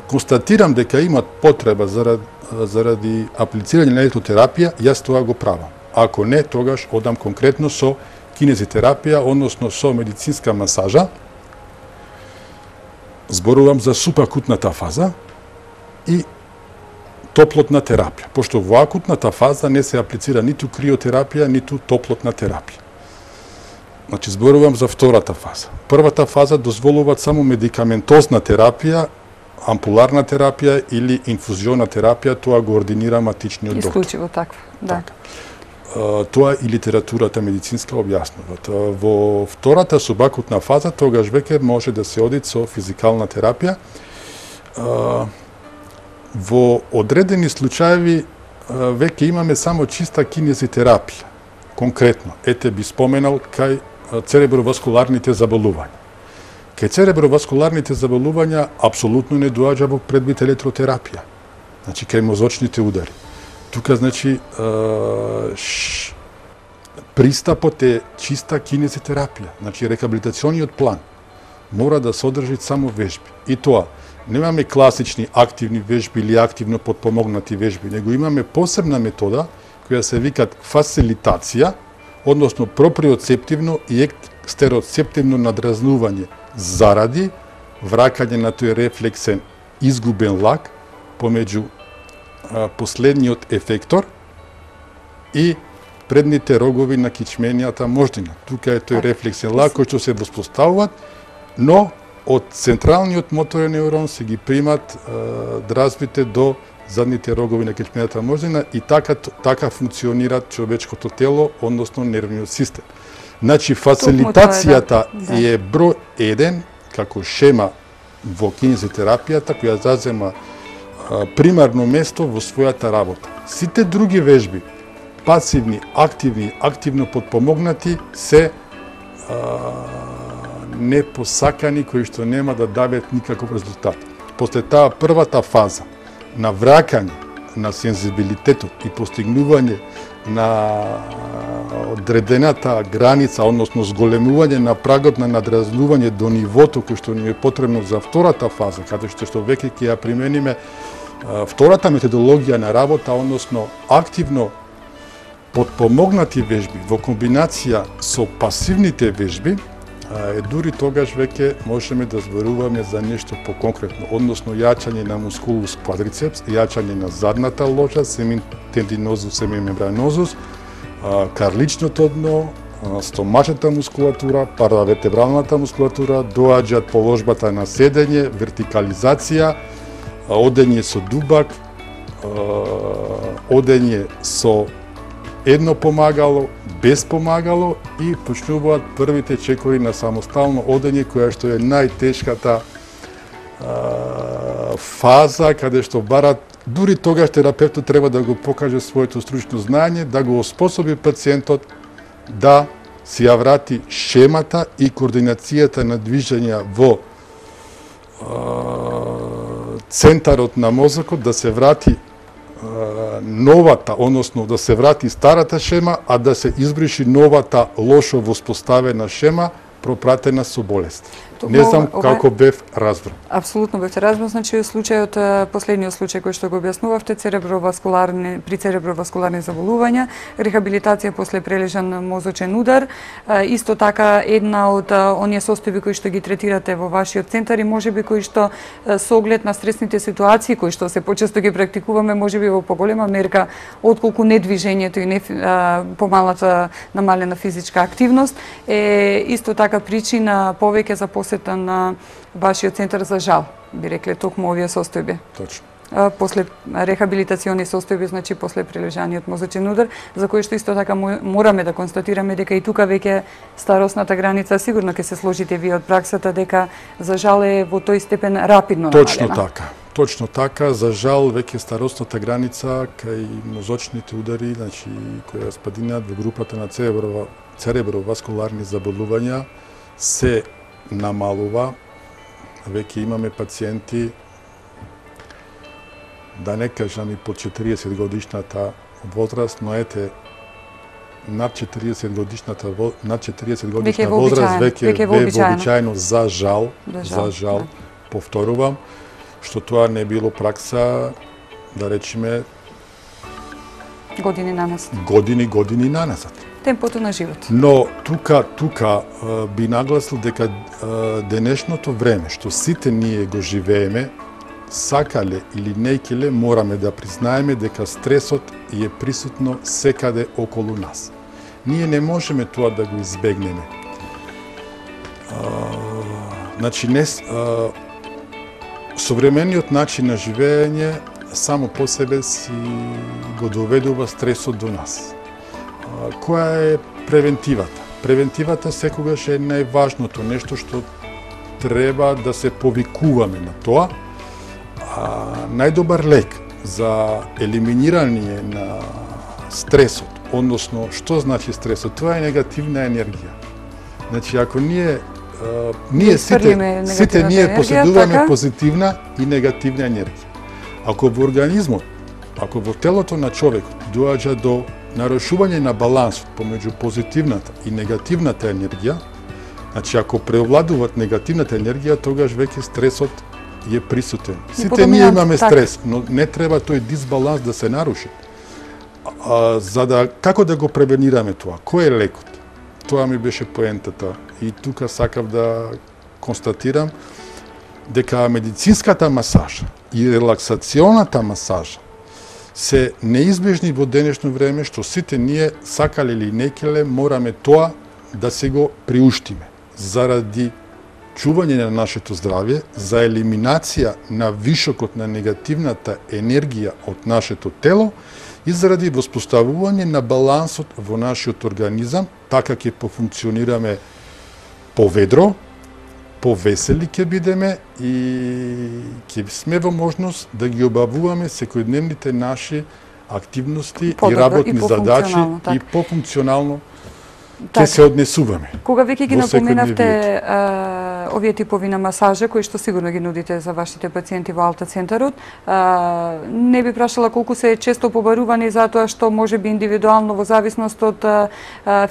констатирам дека имат потреба заради аплицирање на електротерапија, јас тоа го правам. Ако не, тогаш одам конкретно со кинезитерапија, односно со медицинска масажа. Зборувам за субакутната фаза и топлотна терапија, пошто во акутната фаза не се аплицира ниту криотерапија, ниту топлотна терапија. Значи, зборувам за втората фаза. Првата фаза дозволуваат само медикаментозна терапија, ампуларна терапија или инфузиона терапија, тоа го ординира матичниот доктор. Исклучиво таква, да. Тоа и литературата медицинска објаснуваат. Во втората субакутна фаза, тогаш веќе може да се оди со физикална терапија. Во одредени случаеви веќе имаме само чиста кинезитерапија. Конкретно, ете би споменал кај цереброваскуларните заболувања. Кај цереброваскуларните заболувања апсолутно не доаѓа во предвид електротерапија. Значи, кај мозочните удари. Тука, значи, пристапот е чиста кинезитерапија. Значи, рехабилитациониот план мора да содржи само вежби. И тоа, немаме класични активни вежби или активно подпомогнати вежби, него имаме посебна метода која се викат фасилитација, односно проприоцептивно и екстероцептивно надразнување заради вракање на тој рефлексен изгубен лак помеѓу последниот ефектор и предните рогови на кичменијата мождина. Тука е тој рефлексен лак кој што се воспоставуваат, но од централниот моторен неурон се ги примат дразбите до задните рогови на кичменијата мождина и така функционира човечкото тело, односно нервниот систем. Значи, фасилитацијата е број 1 како шема во кинезитерапијата која зазема примарно место во својата работа. Сите други вежби, пасивни, активни, активно подпомогнати, се непосакани кои што нема да дадат никаков резултат. После таа првата фаза на вракање на сензибилитетот и постигнување на одредената граница, односно зголемување на прагот на надразнување до нивото кој што ни е потребно за втората фаза, каде што веќе ќе ја примениме втората методологија на работа, односно активно подпомогнати вежби во комбинација со пасивните вежби, дури тогаш веќе можеме да зборуваме за нешто поконкретно, односно јачање на мускулус квадрицепс, јачање на задната ложа, семитендинозус, семимембранозус, карличното дно, стомачната мускулатура, паравертебралната мускулатура, доаѓаат положбата на седење, вертикализација, одење со дубак, одење со едно помагало, без помагало и почнуваат првите чекори на самостално одење, која што е најтешката фаза, каде што барат, дури тогаш терапевтот треба да го покаже своето стручно знаење, да го оспособи пациентот да си ја врати шемата и координацијата на движења во центарот на мозокот, да се врати новата, односно да се врати старата шема, а да се избриши новата лошо воспоставена шема, пропратена со болест. Не знам како бев разбран. Апсолутно бевте разбран, значи случајот, последниот случај кој што го објаснувавте, при цереброваскуларни заболувања, рехабилитација после прележан мозочен удар, исто така една од оние состојби кои што ги третирате во вашиот центар и можеби кои што со оглед на стресните ситуации кои што се почесто ги практикуваме, можеби во поголема мерка отколку недвижењето и помалата намалена физичка активност е исто така причина повеќе за посета на вашиот центар, за жал, би рекле, токму овие состојби. Точно. После рехабилитациони состојби, значи после прележаниот мозочен удар, за кој што исто така мораме да констатираме дека и тука веќе старосната граница сигурно ќе се сложите вие од праксата дека за жал е во тој степен рапидно намалена. Точно така. Точно така, за жал веќе старосната граница кај мозочните удари, значи која спадинат во групата на цереброваскуларни заболувања, се намалува. Веќе имаме пациенти, да не кажам и под 40 годишната возраст, но ете над 40 годишната возраст веќе е вообичаено, за жал, повторувам, што тоа не било пракса, да речеме, години наназад. Години наназад. Темпото на живот. Но тука би нагласил дека денешното време што сите ние го живееме, сакале или нејкеле, мораме да признаеме дека стресот е присутно секаде околу нас. Ние не можеме тоа да го избегнеме. Значи, современиот начин на живење само по себе си го доведува стресот до нас. Која е превентивата? Превентивата секогаш е најважното, нешто што треба да се повикуваме на тоа. Најдобар лек за елиминирање на стресот, односно, што значи стресот? Тоа е негативна енергија. Значи, ако ние сите ние поседуваме позитивна и негативна енергија. Ако во организмот, ако во телото на човекот доаѓа до нарушување на балансот помеѓу позитивната и негативната енергија, значи ако преовладуваат негативната енергија, тогаш веќе стресот е присутен. Сите ние имаме стрес, но не треба тој дисбаланс да се наруши. Како да го превенираме тоа? Кој е лекот? Тоа ми беше поентата. И тука сакав да констатирам дека медицинската масажа и релаксационата масажа се неизбежни во денешно време, што сите ние, сакале или некеле, мораме тоа да се го приуштиме. Заради чување на нашето здравје, за елиминација на вишокот на негативната енергија од нашето тело и заради воспоставување на балансот во нашиот организам, така ќе пофункционираме поведро, повесели ќе бидеме и ќе сме во можност да ги обавуваме секојдневните наши активности и работни задачи и пофункционално ќе се однесуваме. Кога веќе ги напоменавте овие типови на масажа, кои што сигурно ги нудите за вашите пациенти во Алта центарот, не би прашала колку се често побарувани затоа што може би индивидуално во зависност од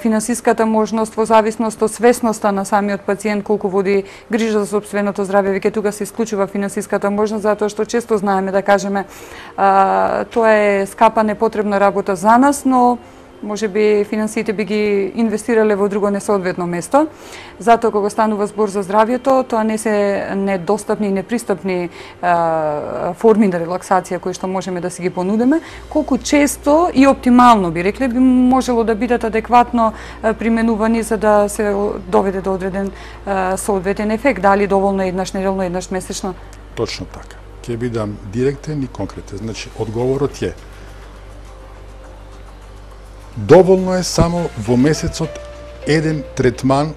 финансиската можност, во зависност од свесноста на самиот пациент, колку води грижа за сопственото здравје, веќе тука се исклучува финансиската можност, затоа што често знаеме да кажеме тоа е скапа непотребна работа за нас, но може би финансиите би ги инвестирале во друго несоодветно место. Затоа кога станува збор за здравјето, тоа не се недостапни и непристапни форми на релаксација кои што можеме да си ги понудиме, колку често и оптимално би рекле би можело да бидат адекватно применувани за да се доведе до одреден соодветен ефект, дали доволно еднаш неделно, еднаш месечно? Точно така. Ќе бидам директен и конкретен. Значи, одговорот е доволно е само во месецот еден третман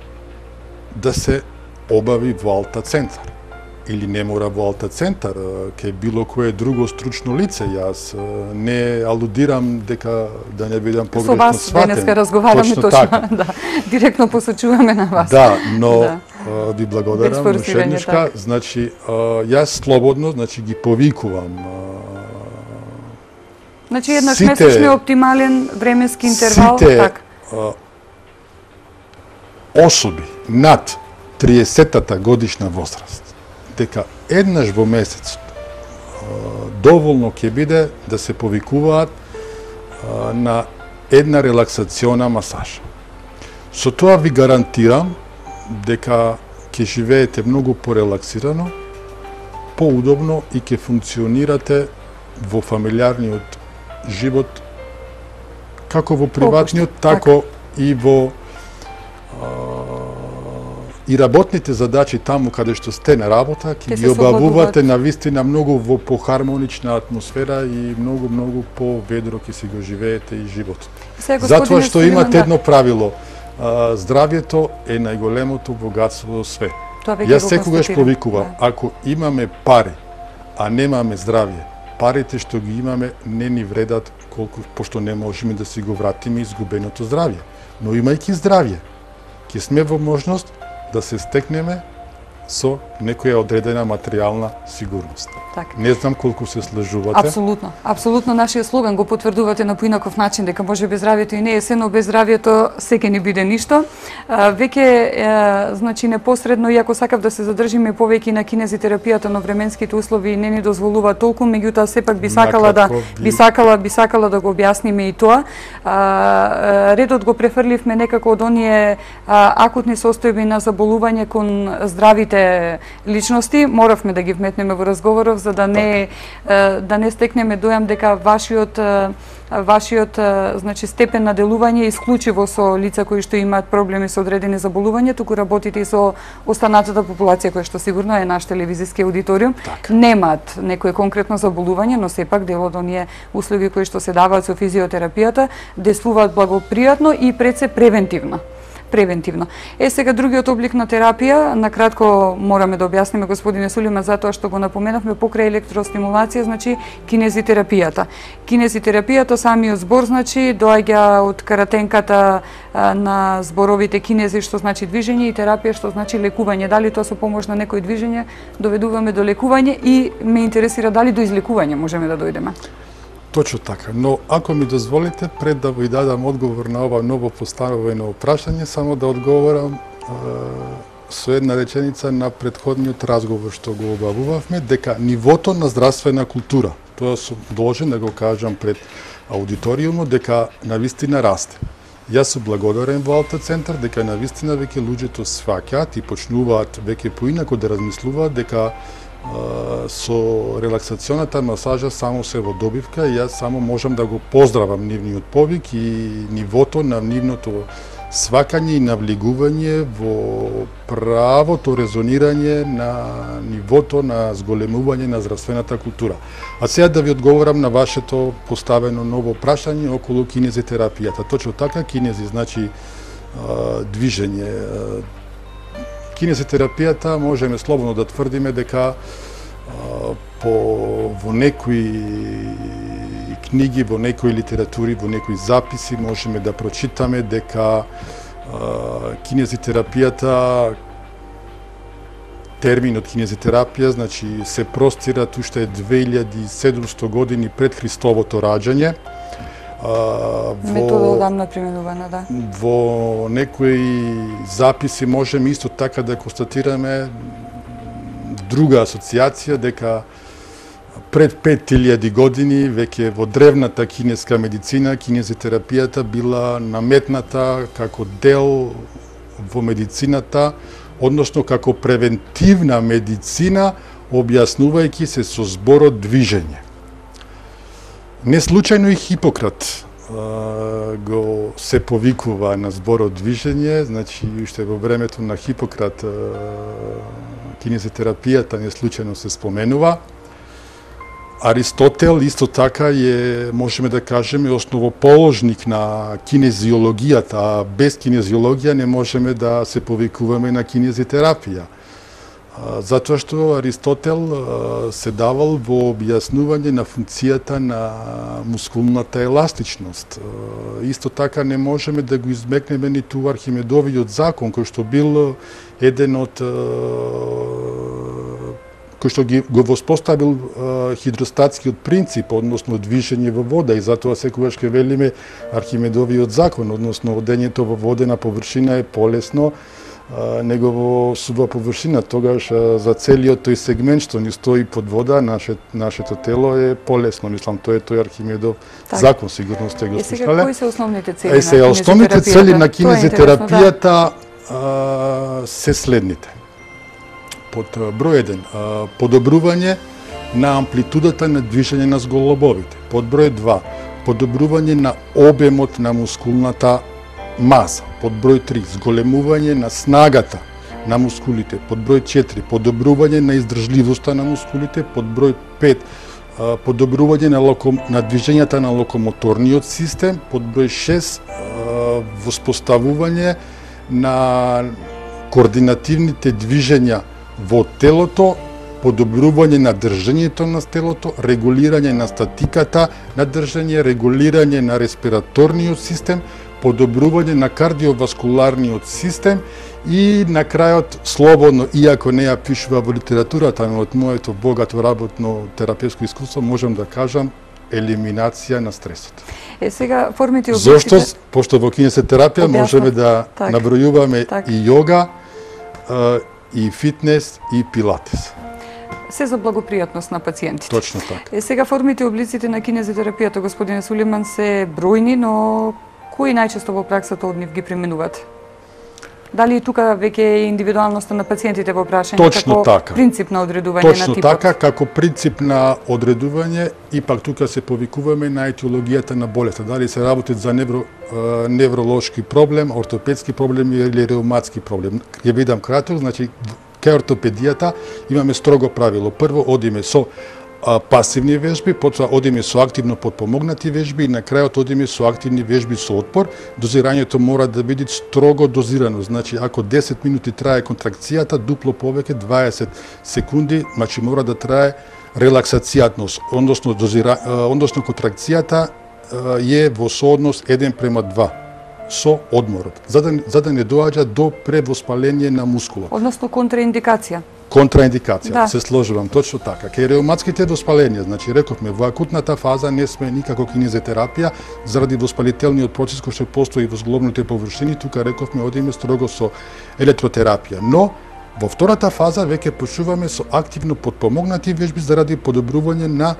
да се обави во Алта центар. Или не мора во Алта центар, ке било кое друго стручно лице. Јас не алудирам дека да не бидам погрешно сватен. Со вас денеска разговараме точно така. Да, директно посочуваме на вас. Да, но ви благодарам ушеднушка. Значи, јас слободно, значи ги повикувам. Значи, еднаш месечно е оптимален временски интервал, така? Особи над 30-та годишна возраст, дека еднаш во месецот доволно ќе биде да се повикуваат на една релаксациона масажа. Со тоа ви гарантирам дека ќе живеете многу порелаксирано, поудобно и ќе функционирате во фамилиарниот живот, како во приватниот, тако и во и работните задачи таму каде што сте на работа, ќе ги обавувате на вистина многу во похармонична атмосфера и многу поведро ќе си го живеете и животот. Затоа што имате едно правило, здравјето е најголемото богатство во свет. Јас секогаш повикувам, ако имаме пари, а немаме здравје, парите што ги имаме не ни вредат колку, пошто не можеме да си го вратиме изгубеното здравје. Но имајќи здравје, ќе сме во можност да се стекнеме со некоја одредена материјална сигурност. Так. Не знам колку се слажувате. Апсолутно. Апсолутно нашиот слоган го потврдувате на поинаков начин, дека може без здравјето и не е се, но без здравјето се ќе не биде ништо. Веќе, значи, непосредно, иако сакав да се задржиме повеќе на кинезитерапијата, но временските услови не ни дозволуваат толку, меѓутоа сепак би сакала да го објасниме и тоа. Редот го префрливме некако од оние акутни состојби на заболување кон здравите личности. Моравме да ги вметнеме во разговоров за да не стекнеме дојам дека вашиот значи степен на делување е исклучиво со лица кои што имаат проблеми со одредени заболувања, туку работите и со останатата популација која што сигурно е наш телевизиски аудиториум. Немаат некое конкретно заболување, но сепак дел од оние услуги кои што се даваат со физиотерапијата действуваат благопријатно и пред се превентивно. превентивно. Сега другиот облик на терапија, на кратко мораме да објасниме, господине Сулима, затоа што го напоменавме покрај електростимулација, значи кинезитерапијата. Кинезитерапијата, самиот збор, значи доаѓа од каратенката на зборовите кинези, што значи движење, и терапија, што значи лекување. Дали тоа со помош на некој движење доведуваме до лекување, и ме интересира дали до излекување можеме да дојдеме? Точно така, но ако ми дозволите, пред да ви дадам одговор на ова ново поставено прашање, само да одговорам со една реченица на претходниот разговор што го обавувавме, дека нивото на здравствена култура, тоа сум должен да го кажам пред аудиториумот, дека навистина расте. Јас сум благодарен во Алтоцентар дека навистина веќе луѓето сваќаат и почнуваат веќе поинаку да размислуваат дека со релаксационата масажа само се во добивка, и јас само можам да го поздравам нивниот повик и нивото на нивното свакање и навлегување во правото резонирање на нивото на зголемување на здравствената култура. А сега да ви одговорам на вашето поставено ново прашање околу кинезитерапијата. Точно така, кинези значи движење. Кинезитерапијата можеме слободно да тврдиме дека во некои книги, во некои литератури, во некои записи можеме да прочитаме дека кинезитерапијата, терминот кинезитерапија, значи се простира уште 2700 години пред Христовото раѓање. Метода одамна применувана, да. Во некои записи можеме исто така да констатираме друга асоциација, дека пред 5000 години веќе во древната кинеска медицина кинезитерапијата била наметната како дел во медицината, односно како превентивна медицина, објаснувајќи се со зборот движење. Не случајно и Хипократ го се повикува на зборот движење, значи уште во времето на Хипократ кинезитерапијата не случајно се споменува. Аристотел исто така можеме да кажеме, основоположник на кинезиологијата, а без кинезиологија не можеме да се повикуваме на кинезитерапија. Затоа што Аристотел се давал во објаснување на функцијата на мускулната еластичност. Исто така не можеме да го измекнеме ниту Архимедовиот закон, кој што бил еден од кој што го воспоставил хидростатскиот принцип, односно движење во вода, и затоа секогаш ке велиме Архимедовиот закон, односно одењето во водена површина е полесно него во сува површина, тогаш за целиот тој сегмент што ни стои под вода, нашето тело е полесно, мислам, тоа е тој Архимедов закон, сигурно сте го слушале. Сега, кои се основните цели на кинезитерапијата? Основните цели на кинезитерапијата се следните. Под број 1, подобрување на амплитудата на движење на зголобовите. Под број 2, подобрување на обемот на мускулната маса. Под број 3, зголемување на снагата на мускулите. Под број 4, подобрување на издржливоста на мускулите. Под број 5, подобрување на движењата на локомоторниот систем. Под број 6, воспоставување на координативните движења во телото, подобрување на држањето на телото, регулирање на статиката на држање, регулирање на респираторниот систем, подобрување на кардиоваскуларниот систем и на крајот, слободно, иако не ја пишува во литературата, но од моето богато работно терапевско искуство, можам да кажам елиминација на стресот. Сега формите и областите... Зошто? Пошто во кинезитерапија можеме да набројуваме и јога, и фитнес, и пилатес. Се за благопријатност на пациентите. Точно така. Сега формите и облиците на кинезитерапијата, господине Сулиман, се бројни, но кои најчесто во праксата од нив ги применуваат? Дали и тука веќе е индивидуалноста на пациентите во прашање како така. Принцип на одредување на типот? Точно така, како принцип на одредување, и пак тука се повикуваме на етиологијата на болеста. Дали се работи за невролошки проблем, ортопедски проблем или реуматски проблем. Ја видам кратко, значи кај ортопедијата имаме строго правило. Прво одиме со пасивни вежби, потоа одиме со активно подпомогнати вежби и на крајот одиме со активни вежби со отпор. Дозирањето мора да биде строго дозирано. Значи, ако 10 минути трае контракцијата, дупло повеќе 20 секунди, значи мора да трае релаксацијата, односно контракцијата е во сооднос 1:2 со одморот, за да не доаѓа до превоспаление на мускулот. Односно контраиндикација. Контраиндикација, да. се сложувам, точно така. Кај реуматските воспаленија, значи рековме, во акутната фаза не сме никако кинезитерапија, заради воспалителниот процес кој што постои во зглобните површини, тука рековме одиме строго со електротерапија. Но, во втората фаза веќе почнуваме со активно подпомогнати вежби заради подобрување на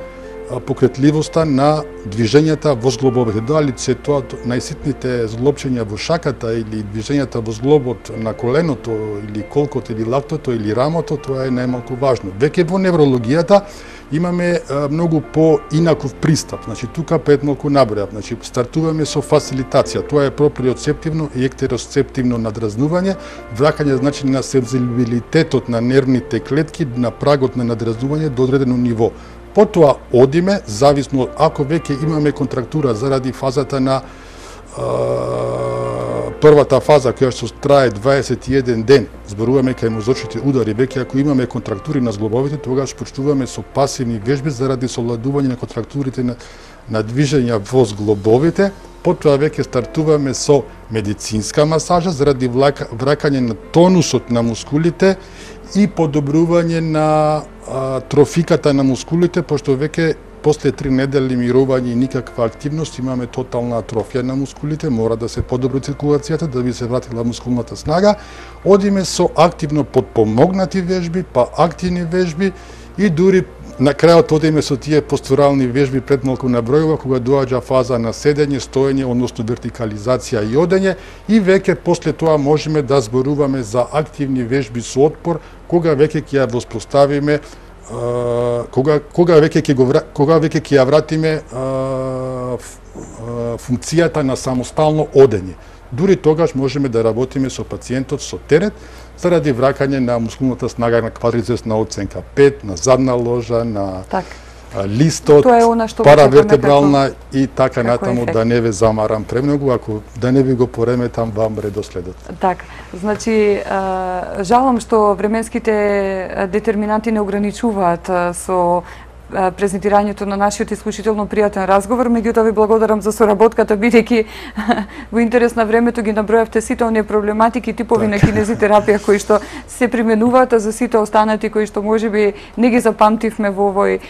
покретливоста на движењата во зглобовите. Дали се тоа најситните зглобчења во шаката или движењата во зглобот на коленото или колкото или лактото или рамото, тоа е најмалку важно. Веќе во неврологијата имаме многу поинаков пристап. Значи тука пред малку набројав. Значи стартуваме со фасилитација. Тоа е проприоцептивно и ектеросцептивно надразнување, враќање значи на сензибилитетот на нервните клетки на прагот на надразнување до одредено ниво. Потоа одиме, зависно ако веќе имаме контрактура заради фазата на првата фаза која што трае 21 ден, зборуваме кај мозочните удари, веќе ако имаме контрактури на зглобовите, тогаш почнуваме со пасивни вежби заради совладување на контрактурите на движења во зглобовите, потоа веќе стартуваме со медицинска масажа заради враќање на тонусот на мускулите и подобрување на трофиката на мускулите, пошто веќе после 3 недели мирување и никаква активност имаме тотална атрофија на мускулите, мора да се подобри циркулацијата да би се вратила мускулната снага. Одиме со активно подпомогнати вежби, па активни вежби и дури на крајот одиме со тие постурални вежби пред малку набројува кога доаѓа фаза на седење, стоење, односно вертикализација и одење и веќе после тоа можеме да зборуваме за активни вежби со отпор кога веќе ќе ја воспоставиме кога веќе ќе ја вратиме функцијата на самостално одење. Дури тогаш можеме да работиме со пациентот со терет заради враќање на мускулната снага на квадрицепсна оценка 5, на задна ложа, на листот, паравертебрална и така натаму, да не ве замарам премногу, ако да не ви го пореметам вам редоследот. Така, значи, жалам што временските детерминанти не ограничуваат со презентирањето на нашиот исклучително пријатен разговор, меѓутоа ви благодарам за соработката, бидејќи во интерес на времето ги набројавте сите оние проблематики, типови на кинезитерапија кои што се применуваат, а за сите останати кои што можеби не ги запамтивме во овој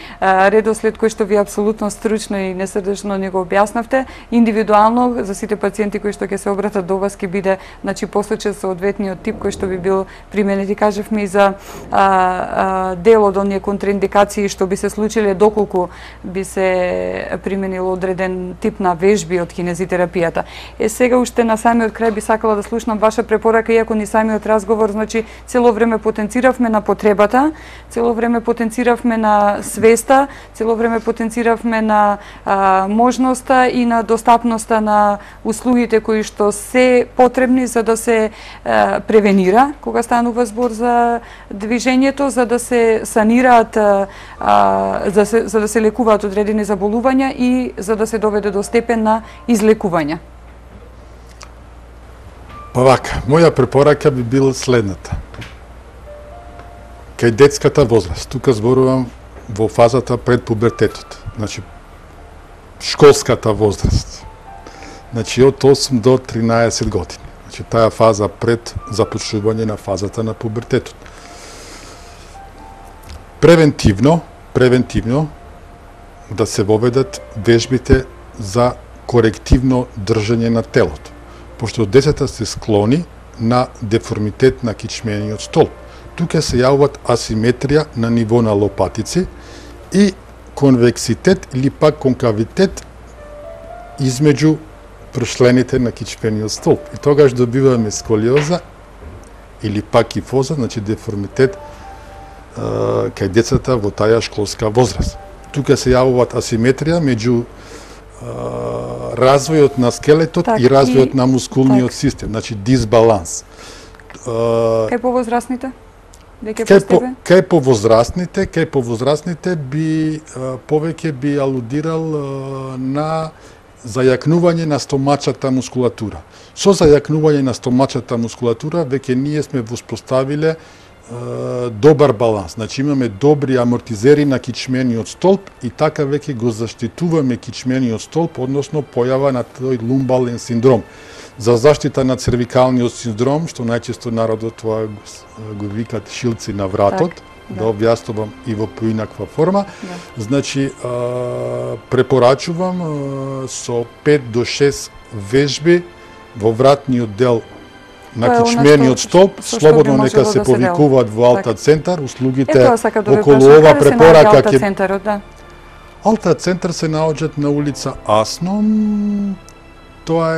редослед кој што ви апсолутно стручно и несрдечно не го објаснавте, индивидуално за сите пациенти кои што ќе се обратат до вас ќе биде значи посочен соодветниот тип кој што би бил применет. И кажавме и за дел од оние контраиндикации што би се случиле доколку би се применил одреден тип на вежби од кинезитерапијата. Сега уште на самиот крај би сакала да слушнам ваша препорака, иако ни самиот разговор, значи цело време потенциравме на потребата, цело време потенциравме на свеста, цело време потенциравме на можноста и на достапноста на услугите кои што се потребни за да се превенира кога станува збор за движењето, за да се санираат за да се лекуваат одредени заболувања и за да се доведе до степен на излекување. Па вака, моја препорака би била следната. Кај детската возраст, тука зборувам во фазата пред пубертетот, значи школската возраст, значи од 8 до 13 години, значи таа фаза пред започнување на фазата на пубертетот. Превентивно да се воведат вежбите за корективно држање на телото, пошто децата се склони на деформитет на кичмениот столб. Тука се јавуваат асиметрија на ниво на лопатици и конвекситет или пак конкавитет измеѓу прошлените на кичмениот столб. И тогаш добиваме сколиоза или пак кифоза, значи деформитет кај децата во таја школска возраст. Тука се јавуваат асиметрија меѓу развојот на скелетот и развојот на мускулниот систем, значи дисбаланс. Кај повозрастните? Веќе постепе? Кај повозрастните би повеќе би алудирал на зајакнување на стомачата мускулатура. Со зајакнување на стомачата мускулатура веќе ние сме воспоставиле добар баланс. Значи имаме добри амортизери на кичмениот столб и така веќе го заштитуваме кичмениот столб, односно појава на тој лумбален синдром. За заштита на цервикалниот синдром, што најчесто народот тоа го викат шилци на вратот, да објаснувам и во поинаква форма. Значи, препорачувам со 5 до 6 вежби во вратниот дел на кичмениот столб, слободно нека се повикуваат во Алта центар, услугите околу ова препорака ќе... Алта центар се наоѓаат на улица Асном, тоа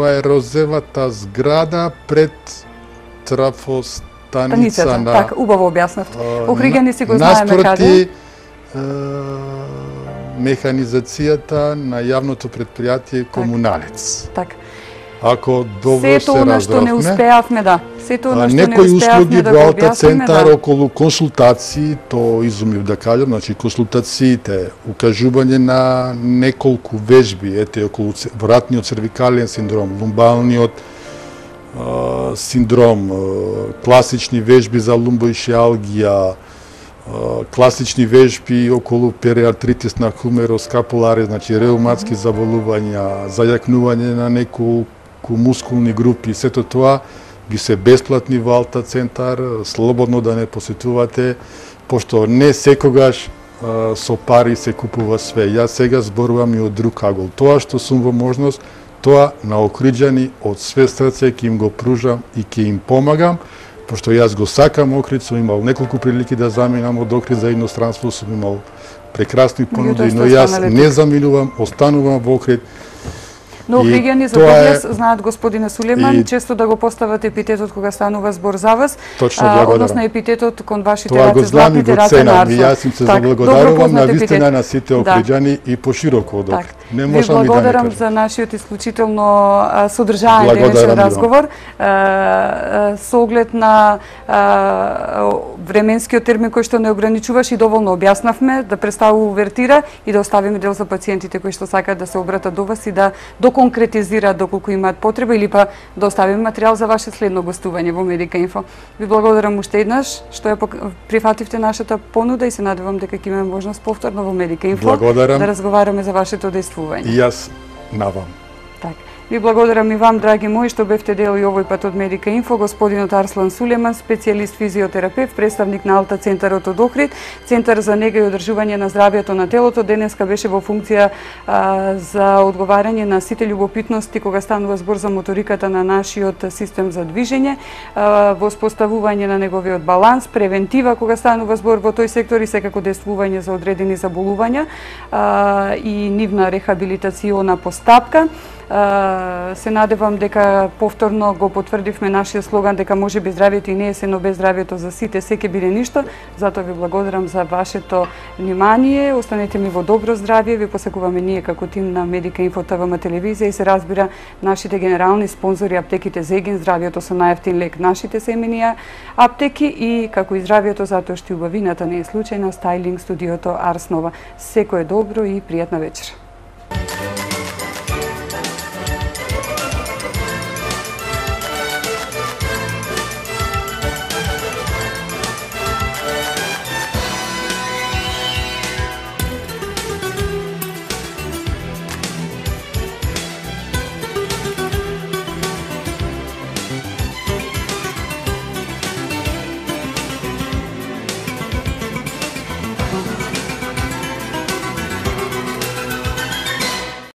е розевата зграда пред трафостаница на... Так, убаво објаснавте. Охриѓани си го знаеме каде. Наспроти механизацијата на јавното предпријатие Комуналец. Так. Ако добро се сето она што не успеавме, да. Сето она што не некои услуги да во го Алта центар да. околу консултации, то изумив да кажам, значи консултациите, укажување на неколку вежби, ете околу вратниот цервикален синдром, лумбалниот синдром, класични вежби за лумбоишиалгија, класични вежби околу периартритис на хумероскапулари, значи реуматски заболувања, зајакнување на неколку мускулни групи, сето тоа би се бесплатни во Алта центар, слободно да не посетувате, пошто не секогаш со пари се купува све. Јас сега зборувам и од друг агол. Тоа што сум во можност, тоа на Охриѓани од све срце ќе им го пружам и ќе им помагам, пошто јас го сакам Охрид, сум имал неколку прилики да заминам од Охрид за иностранство, сум имал прекрасни понуди, но јас не заминувам, останувам во Охрид. Но Охриѓани за Доглес знаат господине Сулеман, често да го постават епитетот кога станува збор за вас, односно епитетот кон вашите раце златните раце на Арсо. Јас им се заблагодарувам на вистина на сите Охриѓани и пошироко од Охрид. Не можам и да не благодарам за нашиот исклучително содржаен денешен разговор. Со оглед на временскиот термин кој што не ограничуваш и доволно објаснавме, да представува увертира и да оставиме дел за пациентите кои што сакаат да се обратат до вас и да конкретизираат доколку имаат потреба или па да оставиме материјал за ваше следно гостување во Медика Инфо. Ви благодарам уште еднаш што ја прифативте нашата понуда и се надевам дека ќе имаме можност повторно во Медика Инфо да разговараме за вашето действување. И јас на вам. Так. Ви благодарам и вам, драги мои, што бевте дел и овој пат од Медика Инфо, господинот Арслан Сулеман, специјалист физиотерапевт, представник на Алта центарот од Охрид, Центар за нега и одржување на здравјето на телото. Денеска беше во функција за одговарање на сите љубопитности кога станува збор за моториката на нашиот систем за движење, воспоставување на неговиот баланс, превентива кога станува збор во тој сектор и секако действување за одредени заболувања и нивна рехабилитациона постапка. Се надевам дека повторно го потврдивме нашиот слоган дека може би здравјето и не е се, но без здравјето за сите се ќе биде ништо. Затоа ви благодарам за вашето внимание. Останете ми во добро здравје. Ви посакуваме ние како тим на Медика Инфо ТВМ телевизија и се разбира нашите генерални спонзори аптеките Зегин, здравјето со најевтин лек, нашите семени аптеки и како и здравјето затоа што убавината не е случајна, стајлинг студиото Арс Нова. Секое добро и пријатна вечер.